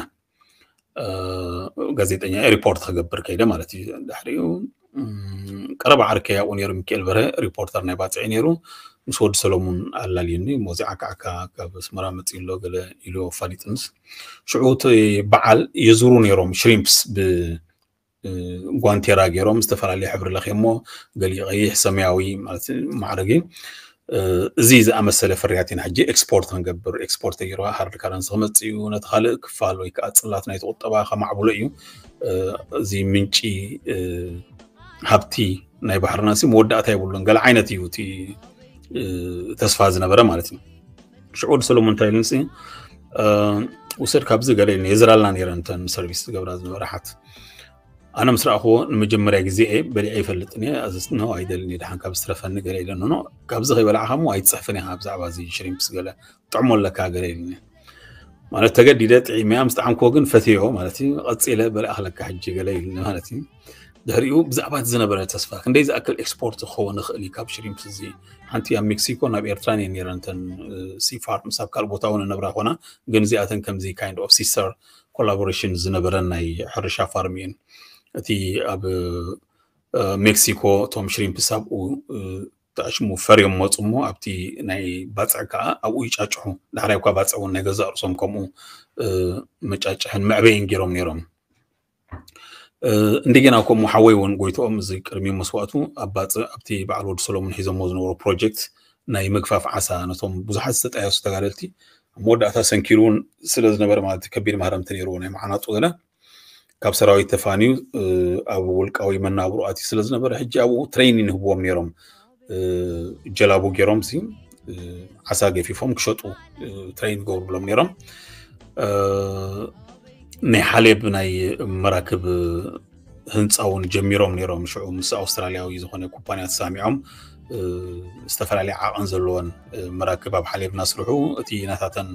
ጋዜጠኛ ሪፖርት ክገብር ከይደ ማለት እዩ። ድሕሪኡ ቀረባ ዓርከይ ኣብኡ ነይሩ ሚካኤል በርሀ ሪፖርተር ናይ ባፅዕ ነይሩ። ምስ ወዲ ሰሎሙን ኣላልዩኒ ሞዚዓ ከዓካ ካብ ኣስመራ መፅኡ ኣሎ ገለ ኢሉ ኣፋሊጥንስ ሽዑ እቲ በዓል የዙሩ ነይሮም ሽሪምፕስ ብ ጓንቴራ ገይሮም ዝተፈላለየ ሕብሪ ለኺሞ ገሊኡ ቀይሕ ሰማያዊ ማለት ማዕረግ እዩ። እዚ ዝኣመሰለ ፍርያት ኢና ሕጂ ኤክስፖርት ክንገብር ኤክስፖርት ተገይርዋ ሃርድ ካረንሲ ክመፅእ እዩ ነቲ ካልእ ክፋል ወይ ከዓ ፅላት ናይቲ ቁጠባ ከማዕብሎ እዩ። እዚ ምንጪ ሃብቲ ናይ ባሕርና ሲ መወዳእታ የብሉን ገለ ዓይነት እዩ እቲ ተስፋ ዝነበረ ማለት እዩ። ሽዑ ሰሎሞን እንታይ ኢሉን ውሰድ ካብዚ ገለ ኢሉ የዝራልና ነይረን እተን ሰርቪስ ዝገብራ ዝነበረ ሓት ኣነ ምስ ረኣኽዎ ንመጀመርያ ግዜ እየ በሊዐ ይፈልጥን እየ ኣዘዝትኖ ኣይደልን እየ ደሓን ካብ ዝተረፈኒ ገለ ኢለኖ ካብዚ ከይበላዕካ እሞ ኣይትፅሕፍን ኢኻ ብዛዕባ እዚ ሽሪምፕስ ገለ ጥዕሞ ኣለካ ገለ ኢሉኒ ማለት ተገዲደ ጥዒመያ ምስ ጠዓምክዎ ግን ፈትዮ ማለት እዩ ቀፂለ በሊኣ ክለካ ሕጂ ገለ ኢሉኒ ማለት እዩ ድሕሪኡ ብዛዕባ እቲ ዝነበረ ተስፋ ክንደይ ዝኣክል ኤክስፖርት ክኸውን ይኽእል እዩ ካብ ሽሪምፕስ እዚ ሓንቲ ኣብ ሜክሲኮ ናብ ኤርትራን እየን ነይረን እተን ሲ ፋርምስ ኣብ ካልእ ቦታ እውን ነብራ ኮና ግን እዚኣተን ከምዚ kind of sister collaboration ዝነበረን ናይ ሕርሻ ፋርም እየን እቲ ኣብ ሜክሲኮ እቶም ሽሪምፕስ ኣብኡ ተኣሽሙ ፈርዮም መፁ እሞ ኣብቲ ናይ ባፅዕ ከዓ ኣብኡ ይጫጭሑ ዳሕራይ እኳ ባፅዕ እውን ናይ ገዛእ ርእሶም ከምኡ መጫጭሕን መዕበይን ገይሮም ነይሮም እንደገና ከምኡ ሓወይ እውን ጎይትኦም እዚ ቅድሚ መስዋእቱ ኣብ ባፅዕ ኣብቲ በዓል ወዲ ሰሎሙን ሒዞሞ ዝነበሩ ፕሮጀክት ናይ ምግፋፍ ዓሳ ነቶም ብዙሓት ዝተጣየሱ ተጋደልቲ ኣብ መወዳእታ ሰንኪሩ እውን ስለ ዝነበረ ማለት ከቢድ ማህረምቲ ነይርዎ ናይ መዓናጡ ገለ ካብ ሰራዊት ተፋንዩ ኣብ ውልቃዊ መናብሮ ኣትዩ ስለ ዝነበረ ሕጂ ኣብኡ ትሬኒን ይህብዎም ነይሮም ጀላቡ ገይሮም ሲ ዓሳ ገፊፎም ክሸጡ ትሬን ገብሩሎም ነይሮም ናይ ሓሌብ ናይ መራክብ ህንፃ እውን ጀሚሮም ነይሮም ሽዑ ምስ ኣውስትራሊያዊ ዝኾነ ኩባንያ ተሳሚዖም ዝተፈላለየ ዓቐን ዘለዎን መራክብ ኣብ ሓሌብ እናስርሑ እቲ ናታተን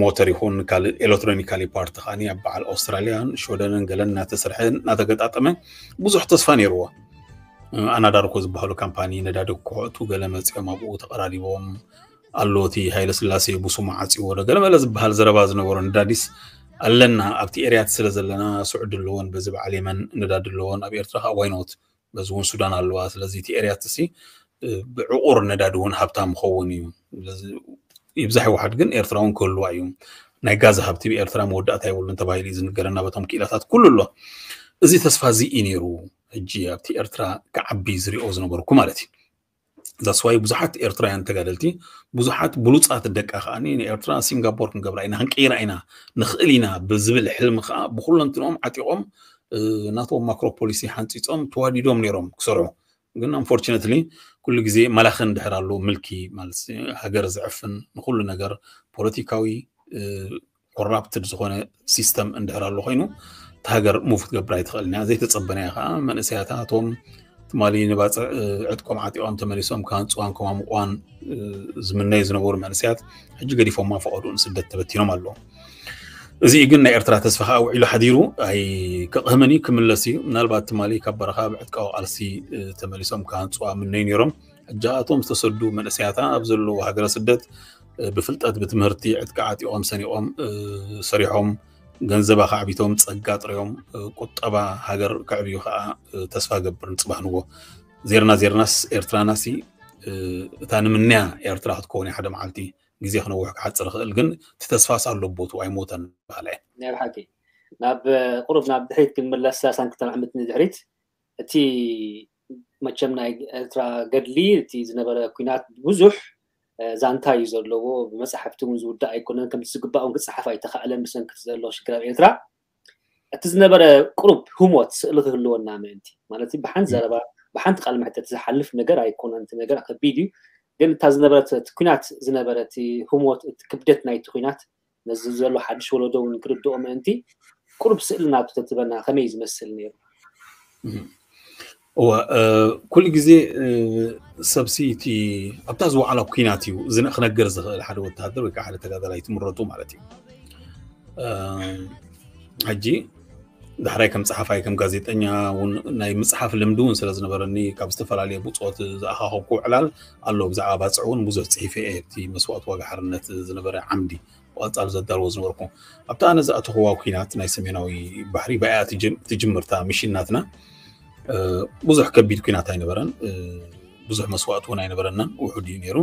ሞተር ይኹን ካልእ ኤሌክትሮኒካሊ ፓርቲ ከዓኒ ኣብ በዓል ኣውስትራልያን ሽወደንን ገለን እናተሰርሐ እናተገጣጠመ ብዙሕ ተስፋ ነይርዎ። ኣናዳርኮ ዝበሃሉ ካምፓኒ ነዳዲ ክኮዕቱ ገለ መፂኦም ኣብኡ ተቐራሪቦም ኣሎ። እቲ ሃይለ ስላሴ ቡሱማ ዓፂዎ ዶ ገለ መለ ዝበሃል ዘረባ ዝነበሮ ነዳዲስ ኣለና ኣብቲ ኤርያት ስለ ዘለና ስዑዲ ኣለዎን በዚ በዓል የመን ነዳዲ ኣለዎን ኣብ ኤርትራ ከዓ ዋይኖት በዚ እውን ሱዳን ኣለዋ። ስለዚ እቲ ኤርያት ሲ ብዕቑር ነዳዲ እውን ሃብታም ክኸውን እዩ። ይብዛሕ ይውሓድ ግን ኤርትራ እውን ክህልዋ እዩ። ናይ ጋዝ ሃብቲ ብኤርትራ መወዳእታ የብሉን ተባሂሉ እዩ ዝንገረና በቶም ክኢላታት ኩሉ ኣሎ። እዚ ተስፋ እዚ እዩ ነይሩ። ሕጂ ኣብቲ ኤርትራ ክዓቢ ዝሪኦ ዝነበርኩ ማለት እዩ። ዛስዋይ ብዙሓት ኤርትራውያን ተጋደልቲ ብዙሓት ብሉፃት ደቃ ከዓ ንኤርትራ ሲንጋፖር ክንገብራ ኢና ክንቀይራ ኢና ንኽእል ኢና ብዝብል ሕልሚ ከዓ ብኩለንትንኦም ዓጢቖም ናቶም ማክሮ ፖሊሲ ሓንፂፆም ተዋዲዶም ነይሮም ክሰርሑ። ግን ኣንፎርችነትሊ ኩሉ ግዜ መላኺ እንድሕር ኣሎ ምልኪ ማለት ሃገር ዝዕፍን ንኩሉ ነገር ፖለቲካዊ ኮራፕትድ ዝኾነ ሲስተም እንድሕር ኣሎ ኮይኑ እቲ ሃገር ሙቭ ክትገብር ኣይትኽእል እያ። ዘይተፀበናያ ከዓ መንእሰያታ እቶም ትማሊ ንባፅዕ ዕጥቆም ዓጢቖም ተመሊሶም ክሃንፅዋን ከማምቋን ዝምነዩ ዝነበሩ መንእሰያት ሕጂ ገዲፎማ ፈቐዱ ንስደት ተበቲኖም ኣለዉ። እዚ ግን ናይ ኤርትራ ተስፋ ከዓ ውዒሉ ሓዲሩ ኣይክቕህምን እዩ ክምለስ እዩ። ምናልባት ትማሊ ካብ በረኻ ብዕጥቃዊ ቃልሲ ተመሊሶም ክሃንፅዋ ምነዩ ነይሮም። ሕጂ እቶም ዝተሰዱ መንእሰያታ ኣብ ዘለዉ ሃገረ ስደት ብፍልጠት ብትምህርቲ ዕጥቂ ዓጢቖም ሰኒቖም ሰሪሖም ገንዘባ ከዕቢቶም ጸጋ ጥሪዮም ቁጠባ ሃገር ከዕብዩ ከዓ ተስፋ ገብር ንጽባህ ንጎ ዜርና ዜርናስ ኤርትራናሲ እታ ንምንያ ኤርትራ ክትከውን ሓደ መዓልቲ ግዜ ክነውሕ ክሓፅር ይኽእል ግን እቲ ተስፋስ ኣሎ ቦቱ ኣይሞተን በሃላ እየ ናይ ብሓቂ ናብ ቁሩብ ናብ ድሕሪት ክንምለስ ሳሳን ክተምዕምት ንድሕሪት እቲ መቸም ናይ ኤርትራ ገድሊ እቲ ዝነበረ ኩናት ብዙሕ ዛንታ እዩ ዘለዎ ብመፅሓፍቲ እውን ዝውዳእ ኣይኮነን ከምቲ ዝግባእ እውን ክፀሓፍ ኣይተካእለን ብሰንክቲ ዘሎ ሽግር ኣብ ኤርትራ እቲ ዝነበረ ቁሩብ ህሞት ስእሊ ክህልወና ምእንቲ ማለት ብሓንቲ ዘረባ ብሓንቲ ቃል መሕተት ዝሓልፍ ነገር ኣይኮነን እቲ ነገር ከቢድ እዩ ግን እታ ዝነበረት ኩናት ዝነበረ ህሞት ክብደት ናይቲ ኩናት ነዚ ዘሎ ሓድሽ ወለዶ እውን ክርድኦ ምእንቲ ቁሩብ ስእሊ ናብ ተትበና ከመይ ዝመስል ነይሩ እወ ኩሉ ግዜ ሰብሲ እቲ ኣብታ ዝወዓላ ኩናት እዩ ዝንእ ክነገር ዝኽእል ሓደ ወተሃደር ወይ ከዓ ሓደ ተጋዳላይ ትምረቱ ማለት እዩ ሕጂ ዳሕራይ ከም ፀሓፋይ ከም ጋዜጠኛ እውን ናይ ምፅሓፍ ልምዲ እውን ስለ ዝነበረኒ ካብ ዝተፈላለየ ብፆት ዝኣኻኸብኩ ዕላል ኣሎ ብዛዕባ ባፅዕ እውን ብዙሕ ፅሒፈ እየ እቲ መስዋእቲ ዋጋ ሓርነት ዝነበረ ዓምዲ ብቐፃል ዘዳልዎ ዝነበርኩ ኣብቲ ኣነ ዝኣተኽዋ ኩናት ናይ ሰሜናዊ ባሕሪ ባያ ትጅምርታ ሚሽን ናትና ብዙሕ ከቢድ ኩናት ኣይነበረን ብዙሕ መስዋእቲ እውን ኣይነበረናን ውሑድ እዩ ነይሩ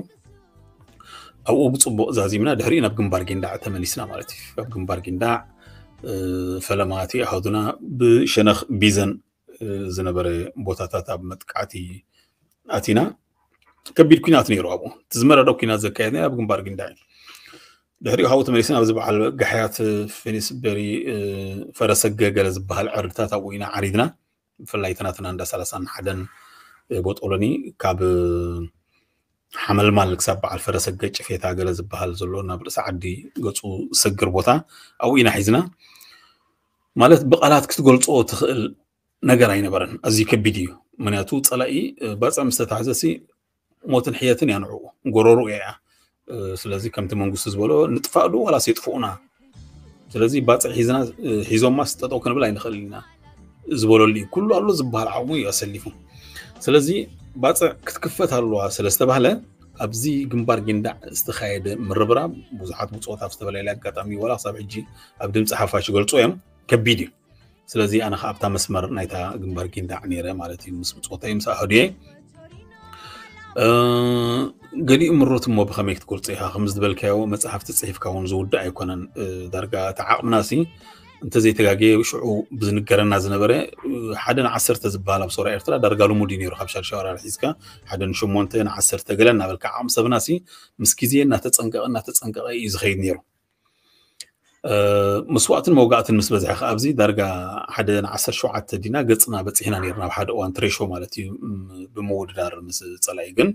ኣብኡ ብፅቡቅ ዛዚምና ድሕሪኡ ናብ ግንባር ጊንዳዕ ተመሊስና ማለት እዩ ኣብ ግንባር ጊንዳዕ ፈለማቲ ኣሃዱና ብሸነኽ ቢዘን ዝነበረ ቦታታት ኣብ መጥቃዕቲ ኣቲና ከቢድ ኩናት ነይሩ ኣብኡ እቲ ዝመረረ ኩናት ዘካየድና ኣብ ግንባር ጊንዳዕ እዩ ድሕሪኡ ካብኡ ተመሊስና ኣብዚ በዓል ጋሕያት ፊኒስበሪ ፈረሰገ ገለ ዝበሃል ዕርድታት ኣብኡ ኢና ዓሪድና ብፍላይ እቲ ናትና እንዳ ሰላሳን ሓደን ቦጦሎኒ ካብ ሓመልማል ክሳብ በዓል ፈረሰገ ጭፌታ ገለ ዝበሃል ዘሎ ናብ ርእሲ ዓዲ ገፁ ዝሰግር ቦታ ኣብኡ ኢና ሒዝና ማለት ብቃላት ክትገልፆ ትኽእል ነገር ኣይነበረን ኣዝዩ ከቢድ እዩ ምክንያቱ ፀላኢ ባፅዕ ምስ ተታሕዘሲ ሞትን ሕየትን እያ ንዕኡ ጎረሩ እያ ስለዚ ከምቲ መንግስቱ ዝበሎ ንጥፋእ ዶ ዋላስ የጥፍኡና ስለዚ ባፅዕ ሒዝና ሒዞማ ስጠጠው ክንብል ኣይንኽእል ኢና ዝበለሉ እዩ ኩሉ ኣሎ ዝበሃል ዓቕሙ እዩ ኣሰሊፉ ስለዚ ባፅዕ ክትክፈት ኣለዋ ስለዝተባህለ ኣብዚ ግንባር ጊንዳዕ ዝተኻየደ ምርብራብ ብዙሓት ብፆት ኣብ ዝተፈላለየ ኣጋጣሚ ዋላ ክሳብ ሕጂ ኣብ ድምፂ ሓፋሽ ይገልፁ እዮም ከቢድ እዩ ስለዚ ኣነ ከዓ ኣብታ መስመር ናይታ ግንባር ጊንዳዕ ነይረ ማለት እዩ ምስ ብፆተይ ምስ ኣህዱየ ገሊኡ ምሩት እሞ ብኸመይ ክትገልፆ ኢኻ ከም ዝበልካዮ መፅሓፍቲ ፅሒፍካ እውን ዝውዳእ ኣይኮነን ዳርጋ እቲ ዓቕምና ሲ እንተዘይተጋገየ ሽዑ ብዝንገረና ዝነበረ ሓደ ንዓሰርተ ዝበሃል ኣብ ሶራ ኤርትራ ዳርጋ ልሙድ እዩ ነይሩ ካብ ሻድሻ ወራር ሒዝካ ሓደ ንሸሞንተ ንዓሰርተ ገለ እናበልካ ዓቕሚ ሰብና ሲ ምስ ግዜ እናተፀንቀቐ እናተፀንቀቐ እዩ ዝኸይድ ነይሩ መስዋእትን መውጋእትን ምስ በዝሐ ከዓ ኣብዚ ዳርጋ ሓደ ንዓሰርተ ሸውዓተ ዲና ገፅና በፂሕና ነርና ኣብ ሓደ እዋን ትሬሾ ማለት እዩ ብምውድዳር ምስ ፀላኢ ግን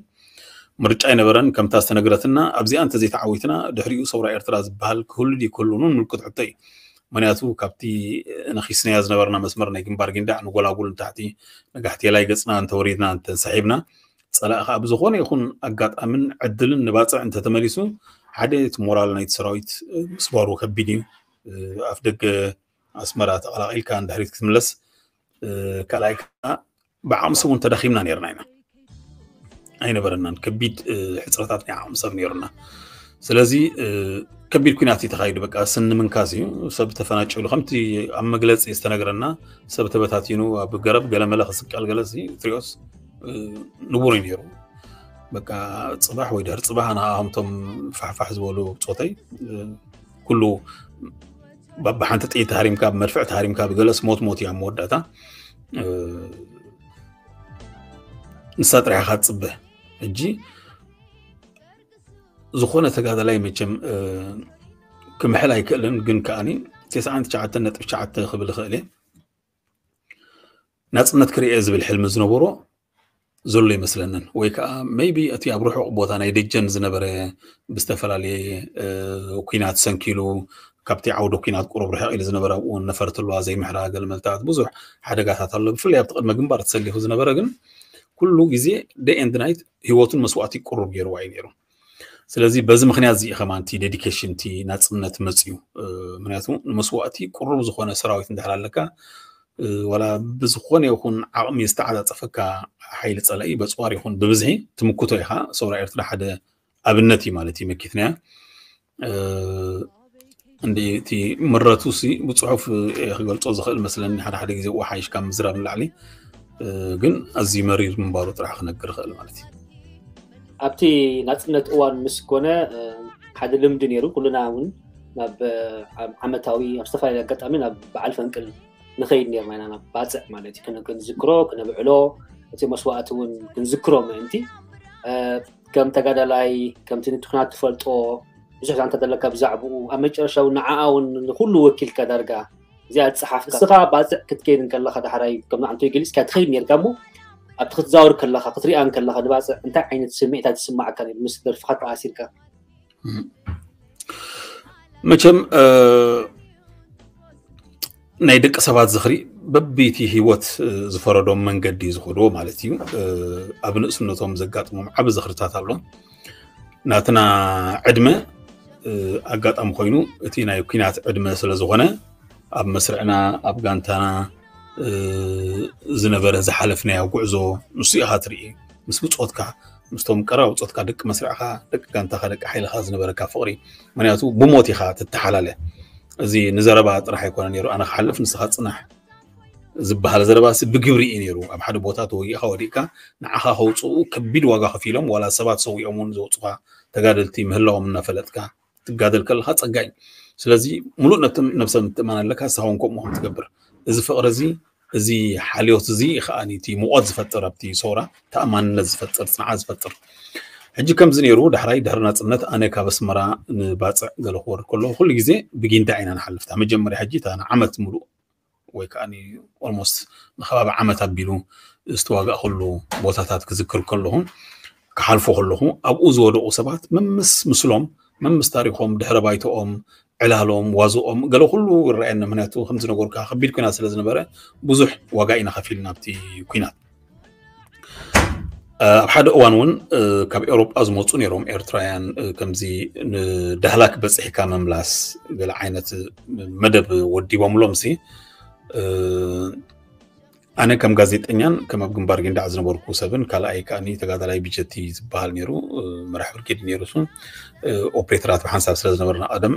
ምርጫ ኣይነበረን ከምታ ዝተነግረትና ኣብዚኣ እንተዘይተዓዊትና ድሕሪኡ ሰውራ ኤርትራ ዝበሃል ክህሉ ድዩ ክህልውን ምልክት ሕቶ እዩ ምክንያቱ ካብቲ ነኺስናዮ ዝነበርና መስመር ናይ ግንባር ጊንዳዕ ንጎላጉል ንታሕቲ ንጋሕቴላይ ገፅና እንተወሪድና እንተንሰሒብና ፀላእ ከዓ ብዝኾነ ይኹን ኣጋጣምን ዕድልን ንባፅዕ እንተተመሊሱ ሓደ እቲ ሞራል ናይቲ ሰራዊት ምስባሩ ከቢድ እዩ። ኣፍ ደገ ኣስመራ ተቐላቒልካ ንድሕሪት ክትምለስ፣ ካልኣይ ከዓ ብዓቕሚ ሰብ እውን ተዳኺምና ነርና ኢና። ኣይነበረናን። ከቢድ ሕፅረታት ናይ ዓቕሚ ሰብ ነይሩና። ስለዚ ከቢድ ኩናት እዩ ተኻይዱ። በቃ ስኒ ምንካስ እዩ። ሰብ ተፈናጭሉ ከምቲ ኣብ መግለፂ ዝተነግረና ሰብ ተበታቲኑ ኣብ ገረብ ገለመለ ክስቀል ገለ ትሪኦስ ንቡር እዩ ነይሩ። በቃ ፅባሕ ወይ ድሕሪ ፅባሕ ኣና ከምቶም ፋሕፋሕ ዝበሉ ብፆተይ ኩሉ ብሓንቲ ጥይት ተሃሪምካ ብመድፍዕ ተሃሪምካ ብገለስ ሞት ሞት እያ መወዳእታ። ንሳ ጥራሕ ኢኻ ትፅበ። ሕጂ ዝኾነ ተጋዳላይ መቸም ክምሕል ኣይክእልን፣ ግን ከዓኒ ተስዓን ትሽዓተን ነጥቢ ትሽዓተ ክብል ይኽእል እየ። ናፅነት ክርኤ ዝብል ሕልሚ ዝነበሮ ዘሎ ይመስለንን። ወይ ከዓ maybe እቲ ኣብ ርሑቕ ቦታ ናይ ደጀን ዝነበረ ብዝተፈላለየ ኩናት ሰንኪሉ ካብቲ ዓውደ ኩናት ቁሩብ ርሕቕ ኢሉ ዝነበረ ኣብኡ እውን ነፈርቲ ኣለዋ ዘይምሕራ ገለመልታት ብዙሕ ሓደጋታት ኣሎ። ብፍላይ ኣብቲ ቅድመ ግንባር ተሰሊፉ ዝነበረ ግን ኩሉ ግዜ day and night ህይወቱን መስዋእቲ ቁሩብ ገይርዋ እዩ ነይሩ። ስለዚ በዚ ምክንያት እዚ ከማን እቲ dedication እቲ ናፅነት መፅዩ። ምክንያቱ ንመስዋእቲ ቁሩብ ዝኾነ ሰራዊት እንድሕር ኣለካ ዋላ ብዝኾነ ይኹን ዓቕሚ ዝተዓፃፀፈካ ሓይሊ ፀላኢ በፅዋር ይኹን ብብዝሒ ትምክቶ ኢኻ። ሰውራ ኤርትራ ሓደ ኣብነት እዩ ማለት እዩ መኪትናያ። እንዲ እቲ ምረቱ ሲ ብፅሑፍ ክገልፆ ዝኽእል መስለኒ ሓደ ሓደ ግዜ ሓይሽካ ምዝራብ ንላዕሊ ግን ኣዝዩ መሪር ምንባሩ ጥራሕ ክነግር ይኽእል ማለት እዩ። ኣብቲ ናፅነት እዋን ምስ ኮነ ሓደ ልምዲ ነይሩ። ኩልና እውን ናብ ዓመታዊ ኣብ ዝተፈላለዩ ኣጋጣሚ ናብ በዓል ፈንቅል ንኸይድ ነርና ኢና ናብ ባፅዕ ማለት እዩ። ክንዝክሮ ክነብዕሎ እቲ መስዋእቲ እውን ክንዝክሮ ምእንቲ ከም ተጋዳላይ ከምቲ ንትኩናት ትፈልጦ ብዙሕ ዛንታ ዘለካ ብዛዕባኡ ኣብ መጨረሻ እውን ንዓኣ እውን ንኩሉ ወኪልካ ዳርጋ እዚኣ ዝፀሓፍካ እስኻ ባፅዕ ክትከይድ እንከለካ ዳሕራይ ከም ንዓንቶ ገሊፅካ ትኸይድ ነርካ እሞ ኣብቲ ክትዛወር ከለካ ክትሪኣ እንከለካ ንባፅዕ እንታይ ዓይነት ስምዒታት ዝስማዓካ ነይሩ ምስ ደርፍካ ተኣሲርካ? መቸም ናይ ደቂ ሰባት ዝኽሪ በቢቲ ህይወት ዝፈረዶም መንገዲ ዝኸድዎ ማለት እዩ። ኣብ ንእስነቶም ዘጋጥሞም ዓቢ ዝኽርታት ኣሎ። ናትና ዕድመ ኣጋጣሚ ኮይኑ እቲ ናይ ኩናት ዕድመ ስለ ዝኾነ ኣብ መስርዕና ኣብ ጋንታና ዝነበረ ዝሓለፍናዮ ጉዕዞ ንሱ ኢኻ ትርኢ። ምስ ብፆትካ ምስቶም ቀረባ ብፆትካ ደቂ መስርዕኻ ደቂ ጋንታኻ ደቂ ሓይልኻ ዝነበረካ ፍቕሪ ምክንያቱ ብሞት ኢኻ ትተሓላለ። እዚ ንዘረባ ጥራሕ ኣይኮነ ነይሩ ኣነ ክሓልፍ ንስኻ ፅናሕ ዝበሃል ዘረባ ሲ ብግብሪ እዩ ነይሩ። ኣብ ሓደ ቦታ ተወጊእካ ወዲእካ ንዓኻ ከውፅኡ ከቢድ ዋጋ ከፊሎም ዋላ ሰባት ሰዊኦም እውን ዘውፅኻ ተጋደልቲ ምህላዎም እናፈለጥካ ትጋደል ከለካ ፀጋ እዩ። ስለዚ ሙሉእ ነብሰ ምትእማን ኣለካ ንስኻ እውን ከምኡ ከም ትገብር እዚ ፍቕሪ እዚ እዚ ሓልዮት እዚ ከዓኒ እቲ ሙቐት ዝፈጥር ኣብቲ ሰውራ ተኣማንነት ዝፈጥር ፅንዓት ዝፈጥር። ሕጂ ከምዚ ነይሩ ዳሕራይ ድሕሪ ናፅነት ኣነ ካብ ኣስመራ ንባፅዕ ገለ ክወርድ ከለኹ ኩሉ ግዜ ብጊንዳዕ ኢና ንሓልፍታ መጀመርያ ሕጂ እታ ንዓመት ሙሉእ ወይ ከዓ almost ንከባቢ ዓመት ኣቢሉ ዝተዋጋእኩሉ ቦታታት ክዝክር ከለኹ ክሓልፎ ከለኹ ኣብኡ ዝወደቁ ሰባት መምስ ምስሎም መምስ ታሪኮም ድሕረ ባይተኦም ዕላሎም ዋዝኦም ገለ ኩሉ ይረኣየኒ ምክንያቱ ከምዝነገርካ ከቢድ ኩናት ስለ ዝነበረ ብዙሕ ዋጋ ኢና ከፊልና ኣብቲ ኩናት። ኣብ ሓደ እዋን እውን ካብ ኤውሮጳ ዝመፁ ነይሮም ኤርትራውያን ከምዚ ንዳህላክ በፂሕካ ምምላስ ገለ ዓይነት መደብ ወዲቦምሎም ሲ ኣነ ከም ጋዜጠኛን ከም ኣብ ግንባር ጊንዳዕ ዝነበርኩ ሰብን ካልኣይ ከዓኒ ተጋዳላይ ብጀቲ ዝበሃል ነይሩ መራሕ ብርጌድ ነይሩ እሱን ኦፕሬተራት ብሓንሳብ ስለ ዝነበርና ቀደም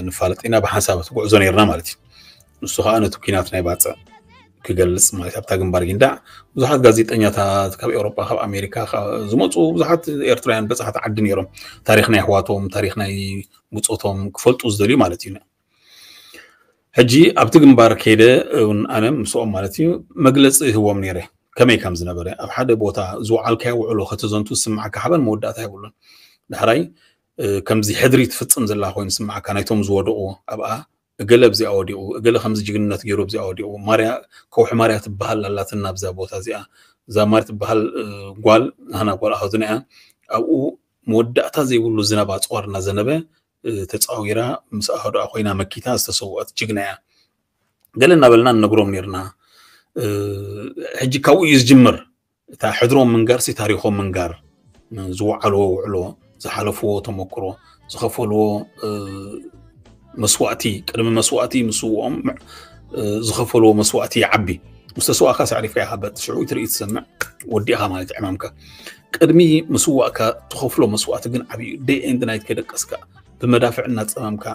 ንፋለጥ ኢና ብሓንሳብ እቲ ጉዕዞ ነይርና ማለት እዩ። ንሱ ከዓ ነቲ ኩናት ናይ ባፅዕ ክገልፅ ማለት ኣብታ ግንባር ጊንዳዕ ብዙሓት ጋዜጠኛታት ካብ ኤውሮጳ ካብ ኣሜሪካ ዝመፁ ብዙሓት ኤርትራውያን በፃሕቲ ዓዲ ነይሮም ታሪክ ናይ ኣሕዋቶም ታሪክ ናይ ብፆቶም ክፈልጡ ዝደልዩ ማለት እዩ። ሕጂ ኣብቲ ግንባር ከይደ እውን ኣነ ምስኦም ማለት እዩ መግለፂ ይህቦም ነይረ ከመይ ከም ዝነበረ ኣብ ሓደ ቦታ ዝወዓልካዮ ውዕሎ ከተዘንቱ ዝስምዓካ ሓበን መወዳእታ የብሉን። ዳሕራይ ከምዚ ሕድሪ ትፍፅም ዘላ ኮይኑ ዝስምዓካ ናይቶም ዝወደቁ ኣብኣ እገለ ኣብዚኣ ወዲቁ እገለ ከምዚ ጅግንነት ገይሩ ኣብዚኣ ወዲቁ ማርያ ከውሒ ማርያ ትበሃል ኣላትና ኣብዛ ቦታ እዚኣ እዛ ማርያ ትበሃል ጓል ናህና ጓል ኣሃዱና እያ ኣብኡ መወዳእታ ዘይብሉ ዝናብ ኣፅዋር እናዘነበ ተፃዊራ ምስ ኣሃዱኣ ኮይና መኪታ ዝተሰወአት ጅግና እያ። ገለ እናበልና ንነግሮም ነርና። ሕጂ ካብኡ እዩ ዝጅምር እታ ሕድሮም ምንጋር ሲ ታሪኮም ምንጋር ዝወዓልዎ ውዕሎ ዝሓለፍዎ ተመክሮ ዝኸፈልዎ መስዋእቲ፣ ቅድሚ መስዋእቲ ምስውኦም ዝኸፈልዎ መስዋእቲ ይዓቢ። ምስ ተስዋእካ ሳዕሪፍካ ኢኻ በጥ ሽዑ ትርኢ ትሰምዕ፣ ወዲእኻ ማለት ዕማምካ። ቅድሚ ምስዋእካ ትኸፍሎ መስዋእቲ ግን ዓብዩ። ደይ ኤንድ ናይት ከይደቀስካ ብመዳፍዕ እናፀመምካ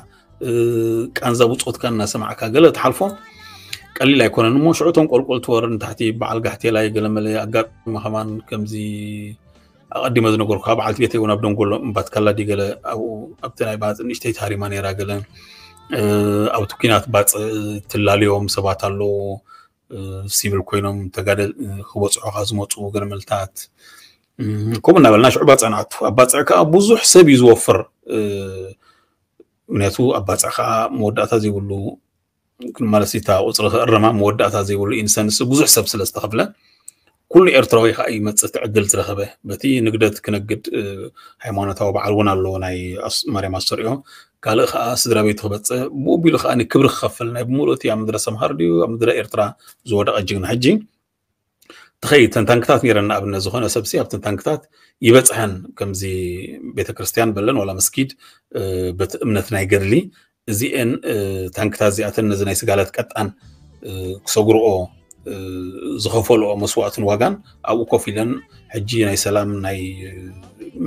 ቃንዛ ብፆትካ እናሰማዕካ ገለ ትሓልፎ ቀሊል ኣይኮነን። እሞ ሽዑ እቶም ቆልቆል ትወርድ ንታሕቲ በዓል ጋሕቴላይ ገለመለ ኣጋጣሚ ከማን ከምዚ ኣቐዲመ ዝነገርኩ በዓልቲ ቤተይ እውን ኣብ ደንጎሎ እምባትካላ ድገለ ኣብኡ ኣብቲ ናይ ባፅዕ ንእሽተይ ታሪማ ነይራ ገለ ኣብቲ ኩናት ባፅዕ ትላለዮም ሰባት ኣለዉ። ሲቪል ኮይኖም ተጋደል ክበፅሑካ ዝመፁ ገለመልታት ከምኡ እናበልና ሽዑ ባፅዕ ንኣቱ። ኣብ ባፅዕ ከዓ ብዙሕ ሰብ እዩ ዝወፍር። ምክንያቱ ኣብ ባፅዕ ከዓ መወዳእታ ዘይብሉ ማለት እታ ቁፅሪ ክእረማ መወዳእታ ዘይብሉ ኢንሰንስ ብዙሕ ሰብ ስለ ዝተኸፍለ ኩሉ ኤርትራዊ ከዓ ይመፅእ እቲ ዕድል ዝረኸበ። በቲ ንግደት ክነግድ ሃይማኖታዊ በዓል እውን ኣለዎ ናይ ማርያም ኣስተርእዮ። ካልእ ከዓ ስድራ ቤቱ ክበፅእ ብኡ ቢሉ ከዓ ክብሪ ክኸፍል ናይ ብምሉእ እቲ ኣብ ምድረ ሰምሃር ድዩ ኣብ ምድረ ኤርትራ ዝወደቐ ጅግና ሕጂ ትኸይድ ተንታንክታት ነረን ንኣብነት ዝኾነ ሰብሲ ኣብ ተንታንክታት ይበፅሐን ከምዚ ቤተክርስትያን በለን ዋላ መስጊድ በቲ እምነት ናይ ገድሊ እዚአን ታንክታት እዚኣተን ነዚ ናይ ስጋለት ቀጣን ክሰግርኦ ዝኸፈልኦ መስዋእትን ዋጋን ኣብኡ ኮፍ ኢለን ሕጂ ናይ ሰላም ናይ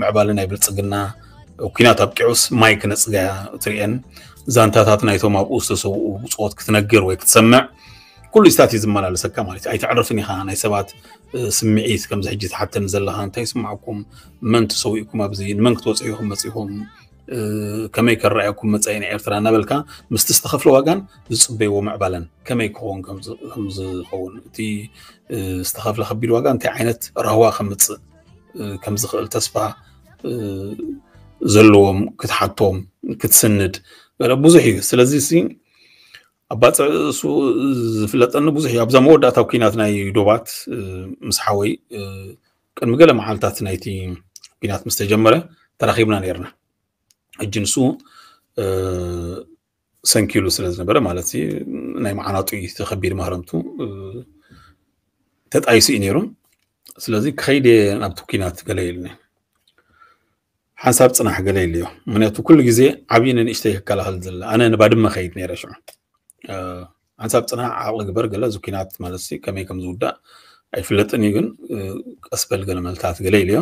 ምዕባለ ናይ ብልፅግና ኩናት ኣብቂዑስ ማይ ክነፅጋ ትሪኤን ዛንታታት ናይቶም ኣብኡ ዝተሰውኡ ብፅወት ክትነግር ወይ ክትሰምዕ ኩሉ ስታት እዩ ዝመላለሰካ ማለት እዩ። ኣይተዕርፍን ኢኻ ናይ ሰባት ስምዒት ከምዚ ሕጂ ትሓተኒ ዘለኻ እንታይ ይስማዕኩም፣ መን ተሰዊእኩም፣ ኣብዚ ንመን ክትወፅሑ ኢኹም መፂኹም፣ ከመይ ከረኣየኩም መፃኢ ናይ ኤርትራ እናበልካ ምስቲ ዝተኸፍለ ዋጋን ዝፅበይዎ ምዕባለን ከመይ ክኸውን ከምዝኸውን እቲ ዝተኸፍለ ከቢድ ዋጋ እንታይ ዓይነት ራህዋ ከምፅእ ከምዝኽእል ተስፋ ዘለዎም ክትሓቶም ክትስንድ ብዙሕ እዩ። ስለዚ ኣባፅዕ እሱ ዝፍለጠኒ ብዙሕ እዩ። ኣብዛ መወዳእታ ኩናት ናይ ዶባት ምስ ሓወይ ቅድሚ ገለ መዓልታት ናይቲ ኩናት ምስ ተጀመረ ተራኺብና ነርና። ሕጂ ንሱ ሰንኪሉ ስለ ዝነበረ ማለት ናይ መዓናጡ ተኸቢድ ማህረምቱ ተጣይሱ እዩ ነይሩ። ስለዚ ክኸይድ ናብቲ ኩናት ገለ ኢሉኒ። ሓንሳብ ፅናሕ ገለ ኢለዮ። ምክንያቱ ኩሉ ግዜ ዓብዪ ንንእሽተይ ክከላኸል ዝለ ኣነ ንባድመ ከይድ ነይረ ሽዑ ሓንሳብ ፅናሕ ዓቕሊ ግበር ገለ እዚ ኩናት ማለት ከመይ ከም ዝውዳእ ኣይፍለጥን እዩ፣ ግን ቀስበል ገለ መልታት ገለ ኢለዮ።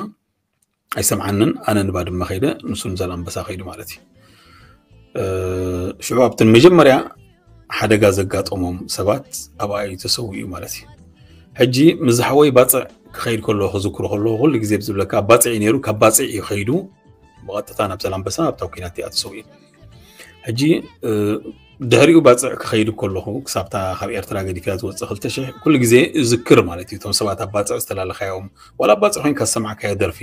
ኣይሰምዓንን። ኣነ ንባድመ ከይደ ንሱ ንዛላምበሳ ከይዱ ማለት እዩ። ሽዑ ኣብትን መጀመርያ ሓደጋ ዘጋጠሞም ሰባት ኣብኣ እዩ ተሰዊኡ ማለት እዩ። ሕጂ ምስ ዝሓወይ ባፅዕ ክኸይድ ከሎ ክዝክሮ ከሎ ኩሉ ግዜ ብዝብለካ ኣብ ባፅዕ እዩ ነይሩ። ካብ ባፅዕ እዩ ከይዱ ብቐጥታ ናብ ዘላምበሳ ኣብታ ኩናት እቲኣ ተሰዊኡ። ሕጂ ድሕሪኡ ባፅዕ ክኸይድ ከለኹ ክሳብታ ካብ ኤርትራ ገዲፍያ ዝወፅእ ክልተ ሽሕ ኩሉ ግዜ እዝክር ማለት እዩ። እቶም ሰባት ኣብ ባፅዕ ዝተላለኻዮም ዋላ ኣብ ባፅዕ ኮይንካ ዝሰማዕካዮ ደርፊ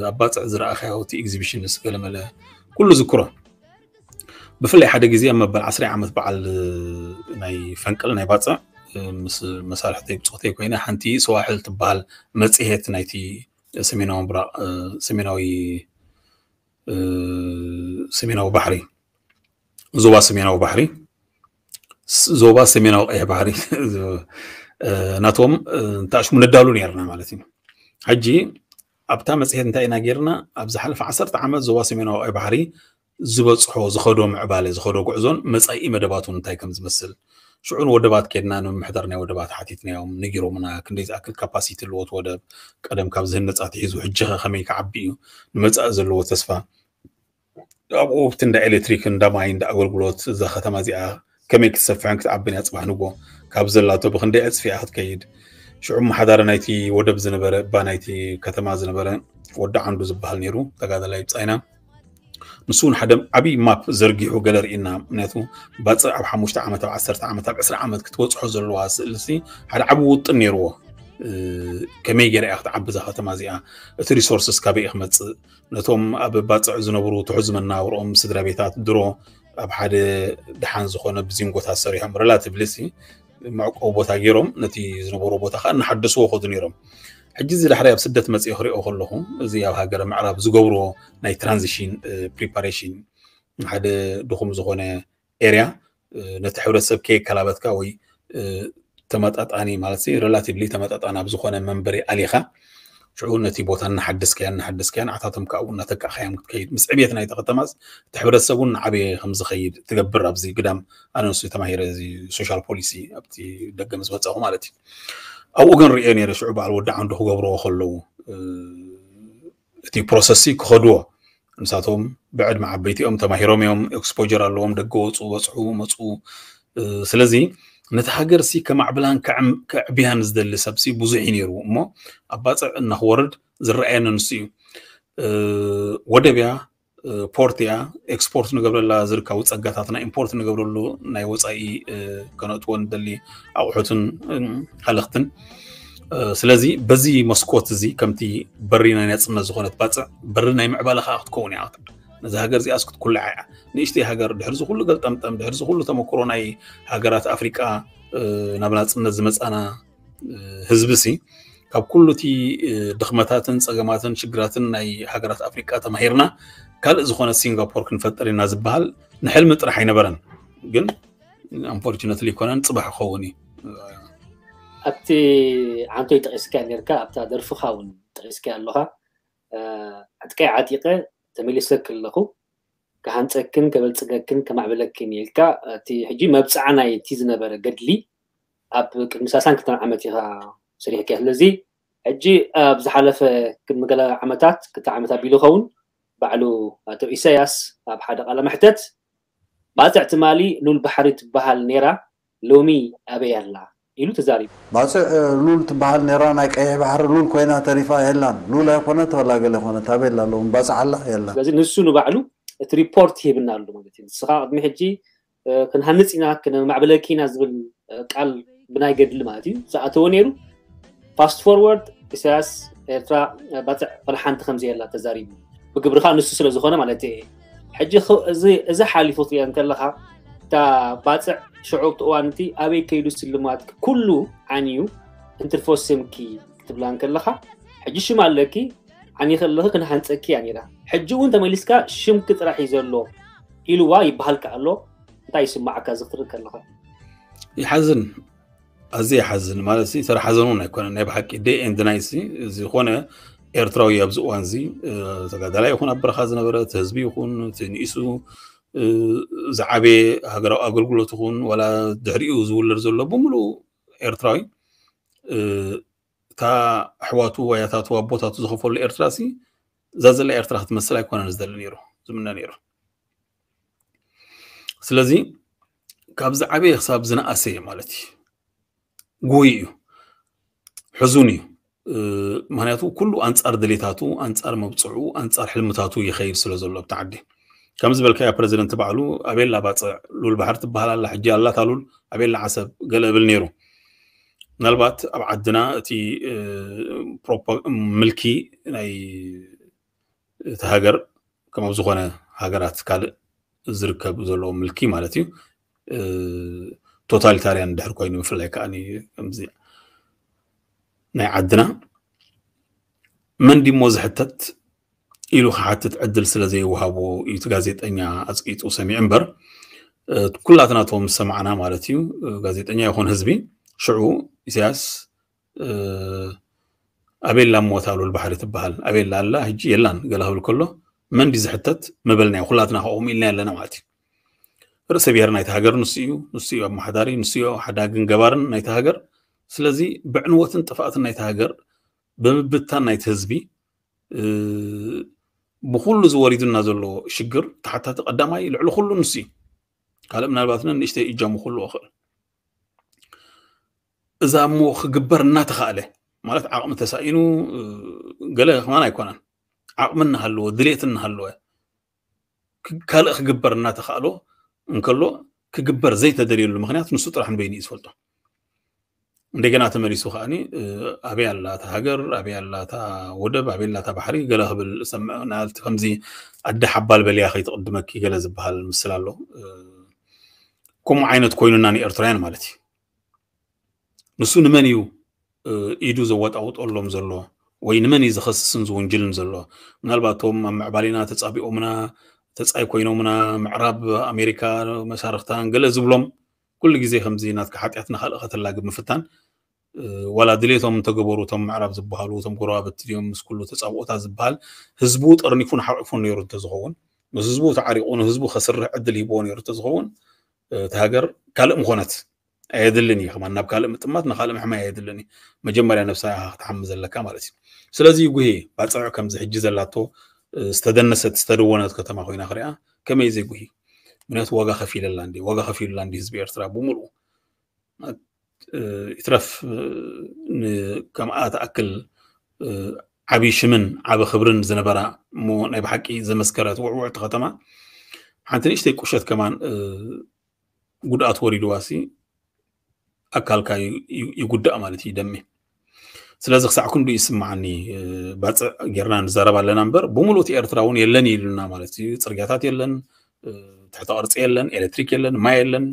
ኣብ ባፅዕ ዝረኣኻዮ እቲ ኤግዚቢሽን ንስገለመለ ኩሉ ዝክሮ። ብፍላይ ሓደ ግዜ ኣብ መበል ዓስራይ ዓመት በዓል ናይ ፈንቅል ናይ ባፅዕ ምስ መሳርሕተይ ብፆተይ ኮይነ ሓንቲ ሰዋሕል ትበሃል መፅሄት ናይቲ ሰሜናዊ ምብራቕ ሰሜናዊ ሰሜናዊ ባሕሪ ዞባ ሰሜናዊ ባሕሪ ዞባ ሰሜናዊ ቀይሕ ባሕሪ ናቶም እንተኣሽሙ ነዳሉ ነርና ማለት እዩ። ሕጂ ኣብታ መፅሄት እንታይ ኢና ጌርና? ኣብ ዝሓለፈ ዓሰርተ ዓመት ዞባ ሰሜናዊ ቀይሕ ባሕሪ ዝበፅሖ ዝኸዶ ምዕባለ ዝኸዶ ጉዕዞን መፃኢ መደባቱን እንታይ ከም ዝመስል ሽዑ ንወደባት ኬድና ንምምሕዳር ናይ ወደባት ሓቲትናዮም ነጊሮምና ክንደይ ዝኣክል ካፓሲቲ ኣለዎት ወደብ ቀደም ካብ ዝህነፃ ትሒዙ ሕጂ ከ ከመይ ክዓቢ እዩ ንመፃኢ ዘለዎ ተስፋ ኣብኡ ኣብቲ እንዳ ኤሌክትሪክ እንዳ ማይ እንዳ ኣገልግሎት እዛ ከተማ እዚኣ ከመይ ክትሰፍሕን ክትዓብን እያ ፅባሕ ንጎ ካብ ዘላቶ ብክንደይ ዕፅፊ እያ ክትከይድ ሽዑ መሓዳሪ ናይቲ ወደብ ዝነበረ እባ ናይቲ ከተማ ዝነበረ ወዲ ዓንዱ ዝበሃል ነይሩ ተጋዳላይ ብፃይና ንሱ እውን ሓደ ዓብዪ ማፕ ዘርጊሑ ገለ ርኢና ምክንያቱ ባፅዕ ኣብ ሓሙሽተ ዓመት ኣብ ዓሰርተ ዓመት ኣብ ዕስራ ዓመት ክትበፅሖ ዘለዋ ስእልሲ ሓደ ዓብዪ ውጥን ነይርዎ ከመይ ገይራ እያ ክትዓቢ እዛ ከተማ እዚኣ እቲ ሪሶርስስ ካበይ ክመፅእ ነቶም ኣብ ባፅዕ ዝነብሩ ትሑዝ መናብርኦም ስድራ ቤታት ድሮ ኣብ ሓደ ድሓን ዝኾነ ብዚንጎታት ሰሪሖም ሬላቲቭሊ ሲ መዕቆቢ ቦታ ገይሮም ነቲ ዝነበሮ ቦታ ከዓ እናሓደስዎ ከዱ ነይሮም። ሕጂ እዚ ዳሕራይ ኣብ ስደት መፅኦ ክሪኦ ከለኹ እዚ ኣብ ሃገረ ምዕራብ ዝገብርዎ ናይ ትራንዚሽን ፕሪፓሬሽን ሓደ ድኹም ዝኾነ ኤርያ ነቲ ሕብረተሰብ ከየከላበትካ ወይ ተመጣጣኒ ማለት ሬላቲቭሊ ተመጣጣኒ ኣብ ዝኾነ መንበሪ ኣሊኻ ሽዑ ነቲ ቦታ እናሓደስካያ እናሓደስካያ ንዓታቶም ከዓ እውን እናተካእካዮም ክትከይድ፣ ምስ ዕብየት ናይቲ ከተማስ እቲ ሕብረተሰብ እውን እናዓበየ ከም ዝኸይድ ትገብር። ኣብዚ ግዳም ኣነ ንሱ ተማሂረ፣ እዚ ሶሻል ፖሊሲ ኣብቲ ደገ ምስ መጻኹ ማለት እዩ። ኣብኡ ግን ርእየ ነይረ፣ ሽዑ በዓል ወዲ ዓንዱ ክገብርዎ ከለዉ እቲ ፕሮሰስ ክኸድዎ፣ ንሳቶም ብዕድመ ዓበይቲ እዮም፣ ተማሂሮም እዮም፣ ኤክስፖጀር ኣለዎም፣ ደገ ወፁ፣ በፅሑ፣ መፁ። ስለዚ ነቲ ሃገር ሲ ከማዕብላን ከዕብያን ዝደሊ ሰብ ሲ ብዙሕ እዩ ነይሩ እሞ፣ ኣብ ባፅዕ እናክወርድ ዝረኣየኒ ንሱ እዩ። ወደብ እያ፣ ፖርት እያ፣ ኤክስፖርት ንገብረላ ዝርከቡ ፀጋታትና ኢምፖርት ንገብረሉ ናይ ወፃኢ ከነእትዎ ንደሊ ኣቑሑትን ሃለኽትን። ስለዚ በዚ መስኮት እዚ ከምቲ በሪ ናይ ናፅነት ዝኾነት ባፅዕ፣ በሪ ናይ ምዕባለ ከዓ ክትከውን እያ። ነዚ ሃገር እዚኣስ ክትኩልዓ እያ። ንእሽተይ ሃገር ድሕሪ ዝኩሉ ገልጠምጠም፣ ድሕሪ ዝኩሉ ተመክሮ ናይ ሃገራት ኣፍሪቃ ናብ ናፅነት ዝመፃና ህዝቢ ሲ ካብ ኩሉ እቲ ድኽመታትን ፀገማትን ሽግራትን ናይ ሃገራት ኣፍሪቃ ተማሂርና ካልእ ዝኾነ ሲንጋፖር ክንፈጥር ኢና ዝበሃል ንሕልሚ ጥራሕ ኣይነበረን። ግን ኣንፎርቹነትሊ ይኮነን ፅባሕ ክኸውን እዩ። ኣብቲ ዓንቶይ ጠቂስካ ነርካ ኣብታ ደርፍኻ እውን ጠቂስካ ኣለኻ። ዕጥቀይ ዓጢቀ ተመሊሰ ከለኹ ክሃንፀክን ከበልፅገክን ከማዕብለክን ኢልካ እቲ ሕጂ መብፅዓ ናይ እቲ ዝነበረ ገድሊ ኣብ ቅድሚ ሳሳን ክልተን ዓመት ኢኻ ሰሪሕካ። ስለዚ ሕጂ ኣብ ዝሓለፈ ቅድሚ ገለ ዓመታት ክልተ ዓመት ኣቢሉ ይኸውን ባዕሉ ኣቶ ኢሳያስ ኣብ ሓደ ቃለ መሕተት ባፅዕ ትማሊ ሉል ባሕሪ ትበሃል ነይራ ሎሚ ኣበይ ኣላ ኢሉ ተዛሪቡ። ባፅዕ ሉል ትበሃል ነይራ ናይ ቀይሕ ባሕሪ ሉል ኮይና ተሪፋ የላን። ሉል ኣይኮነት ወላ ገለ ኮነት ኣበይ ኣላ ሎሚ ባፅዕ ኣላ የላን። ስለዚ ንሱ ንባዕሉ እቲ ሪፖርት ይህብና ኣሎ ማለት እዩ። ንስኻ ቅድሚ ሕጂ ክንሃንፅ ኢና ክነማዕብለኪ ኢና ዝብል ቃል ብናይ ገድሊ ማለት እዩ ዝኣተወ ነይሩ። ፋስት ፎርወርድ ኢሳያስ ኤርትራ ባፅዕ ወላ ሓንቲ ከምዘየላ ተዛሪቡ ብግብርኻ ንሱ ስለ ዝኾነ ማለት እየ። ሕጂ እዚ ሓሊፉ ክትሪኦ እንከለኻ እታ ባፅዕ ሽዑ ኣብቲ እዋን እቲ ኣበይ ከይዱ ስልማት ኩሉ ዓንዩ እንትርፎ ስምኪ ክትብላ እንከለኻ ሕጂ ሽም ኣለኪ ዓኒ ከለኺ ክንሃንፀኪ እያ ነይራ። ሕጂ እውን ተመሊስካ ሽምኪ ጥራሕ እዩ ዘሎ ኢልዋ ይበሃልካ ኣሎ። እንታይ ይስማዓካ እዚ ክትርኢ ከለኻ? ይሓዝን፣ ኣዝየ ይሓዝን። ማለት ሲ ተራ ሓዘን እውን ኣይኮነን፣ ናይ ብሓቂ day and night ሲ ዝኾነ ኤርትራዊ ኣብዚ እዋን እዚ ተጋዳላይ ይኹን ኣብ በረኻ ዝነበረ እቲ ህዝቢ ይኹን እቲ ንኢሱ ዝዓበየ ሃገራዊ ኣገልግሎት ይኹን ዋላ ድሕሪኡ ዝውለድ ዘሎ ብምሉኡ ኤርትራዊ እታ ኣሕዋቱ ወያታቱ ኣቦታቱ ዝኸፈሉ ኤርትራ ሲ እዛ ዘላ ኤርትራ ክትመስል ኣይኮነን ዝደሊ ነይሩ ዝምነ ነይሩ። ስለዚ ካብ ዝዓበየ ክሳብ ዝነኣሰየ ማለት እዩ ጉይ እዩ፣ ሕዙን እዩ። ምክንያቱ ኩሉ ኣንፃር ድሌታቱ፣ ኣንፃር መብፅዑ፣ ኣንፃር ሕልምታቱ ይኸይድ ስለ ዘሎ ኣብቲ ዓዲ። ከም ዝበልካዮ ፕረዚደንት ባዕሉ ኣቤላ ባፅዕ ሉል ባሕር ትበሃል ኣላ፣ ሕጂ ኣላታ ሉል ኣቤላ ዓሰብ ገለ እብል ነይሩ። ምናልባት ኣብ ዓድና እቲ ምልኪ ናይ እቲ ሃገር ከም ኣብ ዝኾነ ሃገራት ካልእ ዝርከብ ዘሎ ምልኪ ማለት እዩ ቶታሊታርያን ድሕር ኮይኑ ብፍላይ ከዓ ከምዚ ናይ ዓድና መን ዲሞ ዝሕተት ኢሉ ክሓትት ዕድል ስለ ዘይወሃቦ እዩ እቲ ጋዜጠኛ ኣፅቂጡ ሰሚዑ እምበር ኩላትና ቶም ዝሰማዕና ማለት እዩ ጋዜጠኛ ይኹን ህዝቢ ሽዑ ኢሳያስ ኣቤላ እሞ እታ ሉል ባሕሪ ትበሃል ኣቤላ ኣላ ሕጂ የላን ገለ ክብል ከሎ መን ድዩ ዝሕተት ምበልናዮ ኩላትና ከምኡ ኢልና ኣለና ማለት እዩ። ርእሰ ብሔር ናይቲ ሃገር ንሱ እዩ፣ ንሱ እዩ ኣመሓዳሪ፣ ንሱ እዩ ሓዳግን ገባርን ናይቲ ሃገር። ስለዚ ብዕንወትን ጥፍኣትን ናይቲ ሃገር ብምብታን ናይቲ ህዝቢ ብኩሉ ዝወሪዱና ዘሎ ሽግር ተሓታቲ ቀዳማይ ልዕሊ ኩሉ ንሱ እዩ። ካልእ ምናልባት ንእሽተይ እጃሙ ክህልዎ ይኽእል። እዛ እሞ ክግበር እናተኻእለ ማለት ዓቕሚ ተሳኢኑ ገለ ከማን ኣይኮነን። ዓቕሚ እናሃለወ ድሌት እናሃለወ ካልእ ክግበር እናተኻእሎ እንከሎ ክግበር ዘይተደልየሉ ምክንያት ንሱ ጥራሕ ንበይኑ እዩ ዝፈልጦ። እንደገና ተመሊሱ ከዓኒ ኣበይ ኣላ እታ ሃገር ኣበይ ኣላ እታ ወደብ ኣበይ ኣላ እታ ባሕሪ ገለ ክብል ሰምዕ ናልቲ ከምዚ ኣደ ሓባል በልያ ከይትቕድመኪ ገለ ዝበሃል ምስል ኣሎ። ከምኡ ዓይነት ኮይኑና ንኤርትራውያን ማለት እዩ። ንሱ ንመን እዩ ኢዱ ዘወጣውጠሎም ዘሎ ወይ ንመን እዩ ዝኸስስን ዝውንጅልን ዘሎ? ምናልባት እቶም ኣብ ምዕባሌና ተፃቢኦምና ተፃይ ኮይኖምና ምዕራብ ኣሜሪካ መሳርክታን ገለ ዝብሎም ኩሉ ግዜ ከምዚ ናትካ ሓጢኣት ንካልእ ከተላግብ ምፍታን ዋላ ድሌቶም እንተገበሩ እቶም ምዕራብ ዝበሃሉ እቶም ጎረባብቲ ድዮም ምስ ኩሉ ተፃብኦታት ዝበሃል ህዝቡ ጠርኒፉን ሓቂፉን ነይሩ እንተዝኸውን፣ ምስ ህዝቡ ተዓሪቑ ንህዝቡ ከስርሕ ዕድል ሂብዎ ነይሩ እንተዝኸውን እቲ ሃገር ካልእ ምኾነት። ኣየድልን እዩ ከማን ናብ ካልእ ምጥማት ንካልእ ምሕማይ ኣየድልን እዩ። መጀመርያ ነብሳ ክትሓሚ ዘለካ ማለት እዩ። ስለዚ ጉሄ ባፅዕ ከምዚ ሕጂ ዘላቶ ዝተደነሰት ዝተደወነት ከተማ ኮይና ክሪኣ ከመይ ዘይጉሂ? ምክንያቱ ዋጋ ከፊለላ እንዲ ዋጋ ከፊሉላ እንዲ ህዝቢ ኤርትራ ብምሉኡ ይትረፍ ከምኣ ትኣክል ዓብዪ ሽምን ዓቢ ክብርን ዝነበራ እሞ ናይ ብሓቂ ዘመስከረት ውዕውዕቲ ከተማ ሓንቲ ንእሽተይ ቁሸት ከማን ጉድኣት ወሪድዋሲ ኣካልካ ይጉዳእ ማለት እዩ ደሜ። ስለዚ ክሳዕ ክንዱ ይስምዓኒ። ባፅዕ ጌርና ንዛረብ ኣለና እምበር ብምሉእ እቲ ኤርትራ እውን የለን ኢሉና ማለት እዩ። ፅርግያታት የለን፣ ትሕተ ቅርፂ የለን፣ ኤሌክትሪክ የለን፣ ማይ የለን።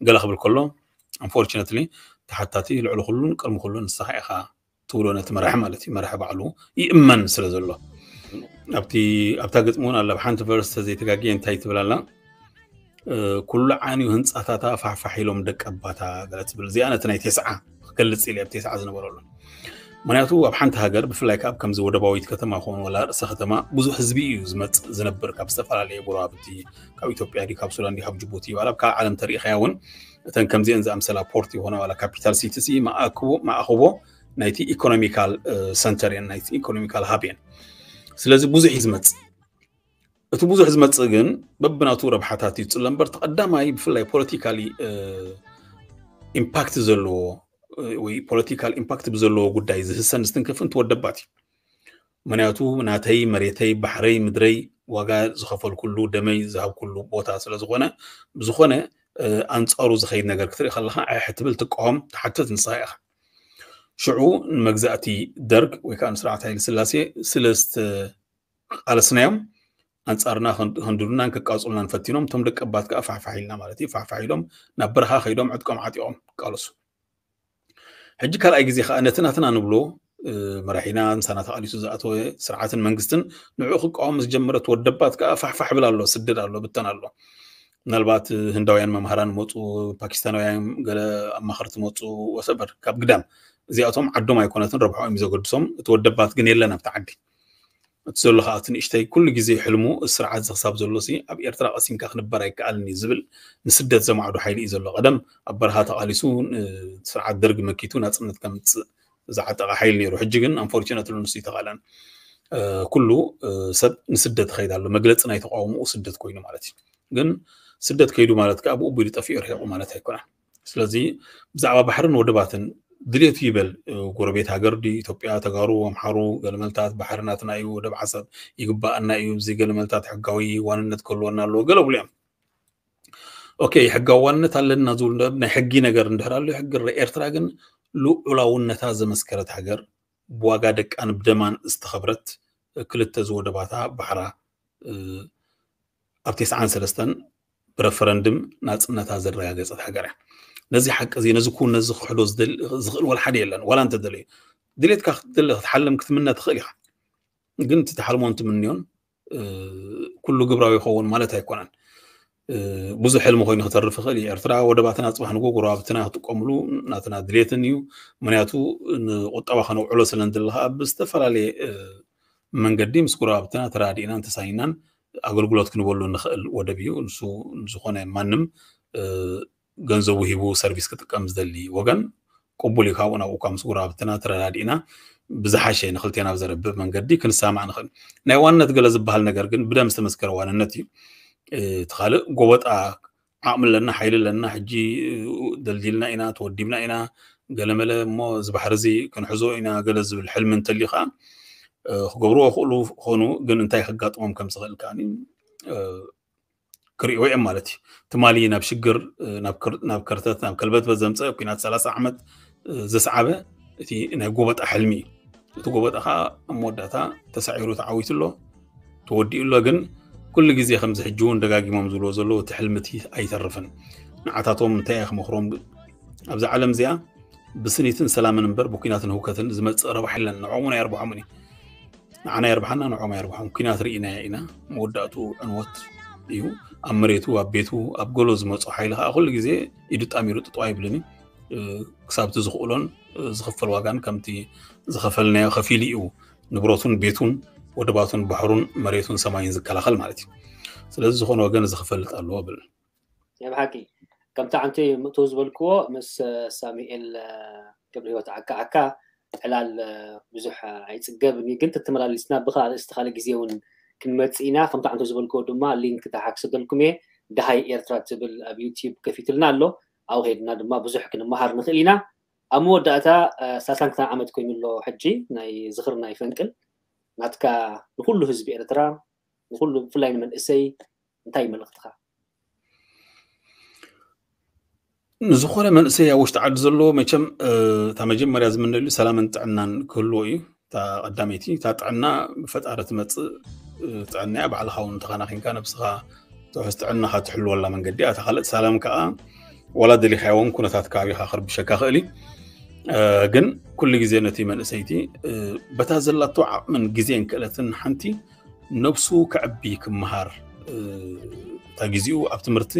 ገለ ክብል ከሎ unfortunately ተሓታቲ ልዕሊ ኩሉን ቅድሚ ኩሉን ንስኻ ኢኻ ትብሎ ነቲ መራሒ ማለት እዩ። መራሒ ባዕሉ ይእመን ስለ ዘሎ ኣብቲ ኣብታ ግጥሚ እውን ኣላ ብሓንቲ ቨርስ ተዘይተጋግየ እንታይ ትብል ኣላ? ኩሉ ዓንዩ ህንፃታታ ፋሕፋሕ ኢሎም ደቀባታ ገለ ትብል እዚኣ ነቲ ናይ ቴስዓ ክገልፅ ኢለ ኣብ ቴስዓ ዝነበረሉ ምክንያቱ ኣብ ሓንቲ ሃገር ብፍላይ ከዓ ኣብ ከምዚ ወደባዊት ከተማ ክኾን ወላ ርእሰ ከተማ ብዙሕ ህዝቢ እዩ ዝመፅእ ዝነብር ካብ ዝተፈላለየ ጎረባብቲ ካብ ኢትዮጵያ ዲ ካብ ሱዳን ዲ ካብ ጅቡቲ ዋላ ካብ ዓለም ተሪኢኻያ እውን እተን ከምዚአን ዝኣምሰላ ፖርት ይኾና ዋላ ካፒታል ሲቲ ሲ ማእክቦ ማእክቦ ናይቲ ኢኮኖሚካል ሰንተር እየን ናይቲ ኢኮኖሚካል ሃብ እየን። ስለዚ ብዙሕ እዩ ዝመፅእ። እቲ ብዙሕ ዝመፅእ ግን በብናቱ ረብሓታት እዩ ዝፅለ እምበር ተቐዳማይ ብፍላይ ፖለቲካሊ ኢምፓክት ዘለዎ ወይ ፖለቲካል ኢምፓክት ብዘለዎ ጉዳይ ዝህሰን ዝትንክፍን ትወደባት እዩ። ምክንያቱ ናተይ መሬተይ ባሕረይ ምድረይ ዋጋ ዝኸፈልኩሉ ደመይ ዝሃብኩሉ ቦታ ስለ ዝኾነ ብዝኾነ ኣንፃሩ ዝኸይድ ነገር ክትርኢ ከለካ ኣሕ ትብል ትቃወም ትሓትት ንስኻ ኢኻ። ሽዑ ንመግዛእቲ ደርግ ወይ ከዓ ንስርዓት ሃይለ ስላሴ ስለ ዝተቃለስናዮም ኣንፃርና ከንድዱናን ከቃፅሉናን ፈቲኖም እቶም ደቀባት ከዓ ፋሕፋሕ ኢልና ማለት እዩ ፋሕፋሕ ኢሎም ናብ በረኻ ከይዶም ዕጥቆም ዓጢቖም ይቃለሱ። ሕጂ ካልኣይ ግዜ ከዓ ነቲ ናትና ንብሎ መራሒና ምሳና ተቃሊሱ ዝኣተወ ስርዓትን መንግስትን ንዕኡ ክቃወም ዝጀመረ ተወደባት ከዓ ፋሕፋሕ ብል ኣሎ ስደድ ኣሎ ብተን ኣሎ። ምናልባት ህንዳውያን መምሃራን መፁ፣ ፓኪስታናውያን ገለ ኣማኸርቲ መፁ ወሰበር ካብ ግዳም እዚኣቶም ዓዶም ኣይኮነትን ረብሖም እዩ ዘገድሶም። እቲ ወደባት ግን የለን ኣብቲ ዓዲ። እቲ ዘሎ ከዓ እቲ ንእሽተይ ኩሉ ግዜ ሕልሙ ስርዓት ዝክሳብ ዘሎ ሲ ኣብ ኤርትራ ቀሲንካ ክንበር ኣይከኣልን እዩ ዝብል ንስደት ዘማዕዱ ሓይሊ እዩ ዘሎ። ቀደም ኣብ በረኻ ተቃሊሱ ስርዓት ደርግ መኪቱ ናፅነት ከምፅእ ዝዓጠቐ ሓይሊ ነይሩ። ሕጂ ግን ኣንፎርቹነት ንሱ ይተኻለን ኩሉ ሰብ ንስደት ይኸይድ ኣሎ። መግለፂ ናይ ተቃውሞኡ ስደት ኮይኑ ማለት እዩ። ግን ስደት ከይዱ ማለት ከዓ ብኡ ቢሉ ጠፊኡ ርሒቑ ማለት ኣይኮነን። ስለዚ ብዛዕባ ባሕርን ወደባትን ድሌቱ ይበል ጎረቤት ሃገር ዲ ኢትዮጵያ ተጋሩ ኣምሓሩ ገለመልታት ባሕሪ ናትና እዩ ወደብ ዓሰብ ይግባኣና እዩ እዚ ገለመልታት ሕጋዊ ዋንነት ክህልወና ኣለዎ ገለ ብሉ እዮም። ኦኬ ሕጋዊ ዋንነት ኣለና ዝብሉ ናይ ሕጊ ነገር እንድሕር ኣሎ ሕጊ ኤርትራ ግን ልዑላውነታ ዘመስከረት ሃገር ብዋጋ ደቃን ብደማን ዝተኸብረት ክልተ ዝወደባታ ባሕራ ኣብ ቴስዓን ሰለስተን ብረፈረንድም ናፅነታ ዘረጋገፀት ሃገር እያ። ነዚ ሓቂ እዚ ነዚ ኩን ነዚ ክሕዶ ዝኽእል ወላ ሓደ የለን። ዋላ እንተደለዩ ድሌትካ ክትደሊ ክትሓልም ክትምነ ትኽእል ኢኻ። ግን እቲ ትሓልሞን ትምንዮን ኩሉ ግብራዊ ይኸውን ማለት ኣይኮነን። ብዙሕ ሕልሚ ኮይኑ ክተርፍ ይኽእል እዩ። ኤርትራ ወደባትና ፅባሕ ንጎ ጎረባብትና ክጥቀምሉ ናትና ድሌትን እዩ። ምክንያቱ ንቁጠባ ከነውዕሎ ስለ ንድሊ ከዓ ብዝተፈላለየ መንገዲ ምስ ጎረባብትና ተራዲእናን ተሳይናን ኣገልግሎት ክንበሉ ንኽእል ወደብ እዩ። ንሱ ዝኾነ ማንም ገንዘቡ ሂቡ ሰርቪስ ክጥቀም ዝደሊ ወገን ቅቡል እዩ። ካብኡ ናብኡ እኳ ምስ ጎረባብትና ተረዳዲእና ብዝሓሸ ንክልቴና ብዘረብብ መንገዲ ክንሰማማዕ ንኽእል። ናይ ዋንነት ገለ ዝበሃል ነገር ግን ብደም ዝተመስከረ ዋንነት እዩ። እቲ ካልእ ጎበጣ ዓቕሚ ኣለና፣ ሓይሊ ኣለና፣ ሕጂ ደልዲልና ኢና፣ ተወዲብና ኢና፣ ገለመለ እሞ እዚ ባሕሪ እዚ ክንሕዞ ኢና ገለ ዝብል ሕልሚ እንተልዩ ከዓ ክገብርዎ ክእሉ ክኾኑ ግን እንታይ ከጋጥሞም ከም ዝኽእል ከዓ ክርእይዎ እዮም ማለት እዩ። ትማሊ ናብ ሽግር ናብ ከርተት ናብ ከልበትበት ዘምፀ ኩናት ሰላሳ ዓመት ዘስዓበ እቲ ናይ ጎበጣ ሕልሚ እዩ። እቲ ጎበጣ ከዓ ኣብ መወዳእታ ተሳዒሩ ተዓዊቱ ኣሎ ተወዲኡ ኣሎ። ግን ኩሉ ግዜ ከምዚ ሕጂ እውን ደጋጊሞም ዝብልዎ ዘለዉ እቲ ሕልሚ እቲ ኣይተርፍን። ንዓታቶም እንታይ እየ ክመኽሮም ኣብዚ ዓለም እዚኣ ብስኒትን ሰላምን እምበር ብኩናትን ህውከትን ዝመፅእ ረብሓ የለን። ንዕኦም እውን ኣየርብሖምን እዩ። ንዓና የርብሓና ንዕኦም ኣየርብሖም። ኩናት ርኢናዮ ኢና። መወዳእትኡ ዕንወት እዩ። ኣብ መሬቱ ኣብ ቤቱ ኣብ ገሎ ዝመፁ ሓይሊ ከዓ ኩሉ ግዜ ኢዱ ጣሚሩ ጥጥው ኣይብልን እዩ። ክሳብቲ ዝኽእሎን ዝኽፈል ዋጋን ከምቲ ዝኸፈልናዮ ከፊሉ እዩ ንብረቱን ቤቱን ወደባቱን ባሕሩን መሬቱን ሰማይን ዝከላኸል ማለት እዩ። ስለዚ ዝኾነ ወገን እዚ ክፈልጥ ኣለዎ ብል። ናይ ብሓቂ ከምቲ ዓንቲ ምእቶ ዝበልክዎ ምስ ሳሙኤል ገብረ ህይወት ዓካ ዓካ ዕላል ብዙሕ ኣይፅገብን እዩ፣ ግን ተተመላሊስና ብካ ኣርእስቲ ካልእ ግዜ እውን ክንመፅእ ኢና። ከምቲ ዓንቶ ዝበልክዎ ድማ ሊንክ ተሓክሰደልኩም እየ። ደሃይ ኤርትራ ትብል ኣብ ዩቲዩብ ከፊትልና ኣሎ። ኣብኡ ከይድና ድማ ብዙሕ ክንመሃር ንኽእል ኢና። ኣብ መወዳእታ ሳሳንክታ ዓመት ኮይኑ ኣሎ ሕጂ ናይ ዝኽሪ ናይ ፈንቅል ናትካ ንኩሉ ህዝቢ ኤርትራ ንኩሉ ብፍላይ ንመንእሰይ እንታይ መልእኽትኻ? ንዝኾነ መንእሰይ ኣብ ውሽጢ ዓዲ ዘለዎ መቸም እታ መጀመርያ ዝምነሉ ሰላምን ጥዕናን ክህልዎ እዩ። እታ ቀዳመይቲ እታ ጥዕና ብፈጣሪ ትመፅእ ጥዕና እያ። ባዕልኻ እውን ተኸናኺንካ ነብስኻ ትሕዝ ጥዕናኻ ትሕልወላ መንገዲ እያ። እታ ካልእ ሰላም ከዓ ዋላ ደሊኻዮ እውን ኩነታት ከባቢኻ ክርብሸካ ክእል እዩ። ግን ኩሉ ግዜ ነቲ መንእሰይቲ በታ ዘላቶ ዓቕምን ግዜን ክእለትን ሓንቲ ነብሱ ከዕቢ ክመሃር እታ ግዜኡ ኣብ ትምህርቲ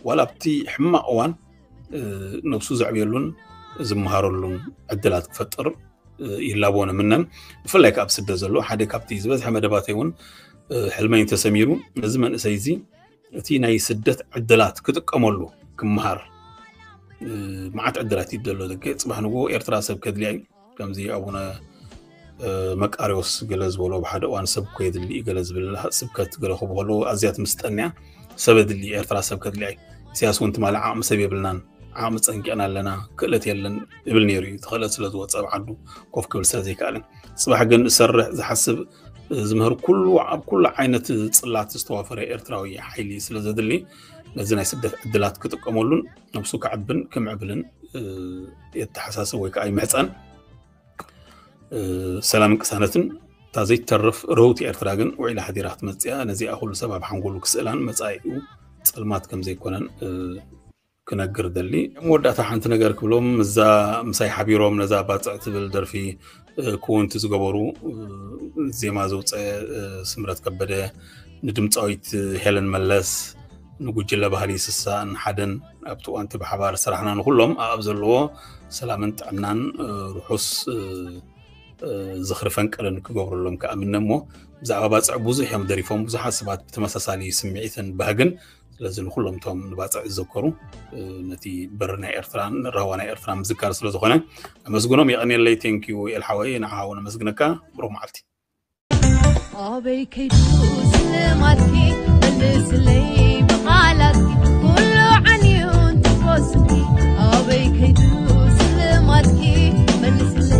ዋላ ኣብቲ ሕማቕ እዋን ነብሱ ዘዕብየሉን ዝመሃረሉን ዕድላት ክፈጥር ይላቦ ንምነን። ብፍላይ ካብ ስደት ዘሎ ሓደ ካብቲ ዝበዝሐ መደባተይ እውን ሕልመይ ተሰሚሩ ነዚ መንእሰይ እዚ እቲ ናይ ስደት ዕድላት ክጥቀመሉ ክመሃር መዓት ዕድላት እዩ ዘሎ። ደገ ፅባሕ ንግሆ ኤርትራ ሰብ ከድልያ እዩ። ከምዚ ኣቡነ መቃሪዎስ ገለ ዝበሎ ብሓደ እዋን ሰብ እኮ የድሊ እዩ ገለ ዝብል ስብከት ገለ ክብሉ ከለዉ ኣዝያ ትምስጠኒ እያ። ሰብ የድሊ ኤርትራ ሰብ ከድልያ እዩ። ኢሳያስ እውን ትማሊ ዓቕሚ ሰብ የብልናን ዓቕሚ ጸንቂቕና ኣለና ክእለት የለን ይብል ነይሩ እዩ። እቲ ክእለት ስለ ዝወፀ ኣብ ዓዱ ኮፍ ክብል ስለ ዘይከኣልን ፅባሕ ግን ዝሰርሕ ዝሓስብ ዝምህር ኩሉ ኣብ ኩሉ ዓይነት ፅላት ዝተዋፈረ ኤርትራዊ ሓይሊ ስለ ዘድሊ ነዚ ናይ ስደት ዕድላት ክጥቀመሉን ነብሱ ከዕብን ክምዕብልን የተሓሳስብ ወይ ከዓ ይምሕፀን። ሰላምን ቅሳነትን እታ ዘይትተርፍ ርህውቲ ኤርትራ ግን ውዒላ ሓዲራ ክትመፅእ እያ። ነዚኣ ኩሉ ሰብ ኣብ ሓንጎሉ ክስእላን መፃኢኡ ፀልማት ከም ዘይኮነን ክነግር ደሊ። መወዳእታ ሓንቲ ነገር ክብሎም እዛ ምሳይ ሓቢሮም ነዛ ባፅዕ ትብል ደርፊ ክውንቲ ዝገበሩ ዜማ ዘውፀ ስምረት ከበደ፣ ንድምፃዊት ሄለን መለስ፣ ንጉጅለ ባህሊ ስሳን ሓደን ኣብቲ እዋንቲ ብሓባር ስራሕና ንኩሎም ኣብ ዘለዎ ሰላምን ጥዕናን ርሑስ ዝኽሪ ፈንቅልን ክገብረሎም ከኣምነ እሞ ብዛዕባ ባፅዕ ብዙሕ እዮም ደሪፎም። ብዙሓት ሰባት ብተመሳሳሊ ስምዒትን ባህግን ስለዚ ንኩሎም እቶም ንባፅዕ ዝዘከሩ ነቲ በሪ ናይ ኤርትራን ራዋ ናይ ኤርትራ ምዝካር ስለዝኾነ ኣመስግኖም። የቐንየለይ። ቴንኪዩ ኤልሓወይ ንዓኻ እውን ኣመስግነካ። ብሩኽ መዓልቲ። ኣበይ ከይዱ ስልማትኪ መልስለይ ብቓላትኪ ኩሉ ዓንዩ እንትኮስኪ ኣበይ ከይዱ ስልማትኪ መልስለይ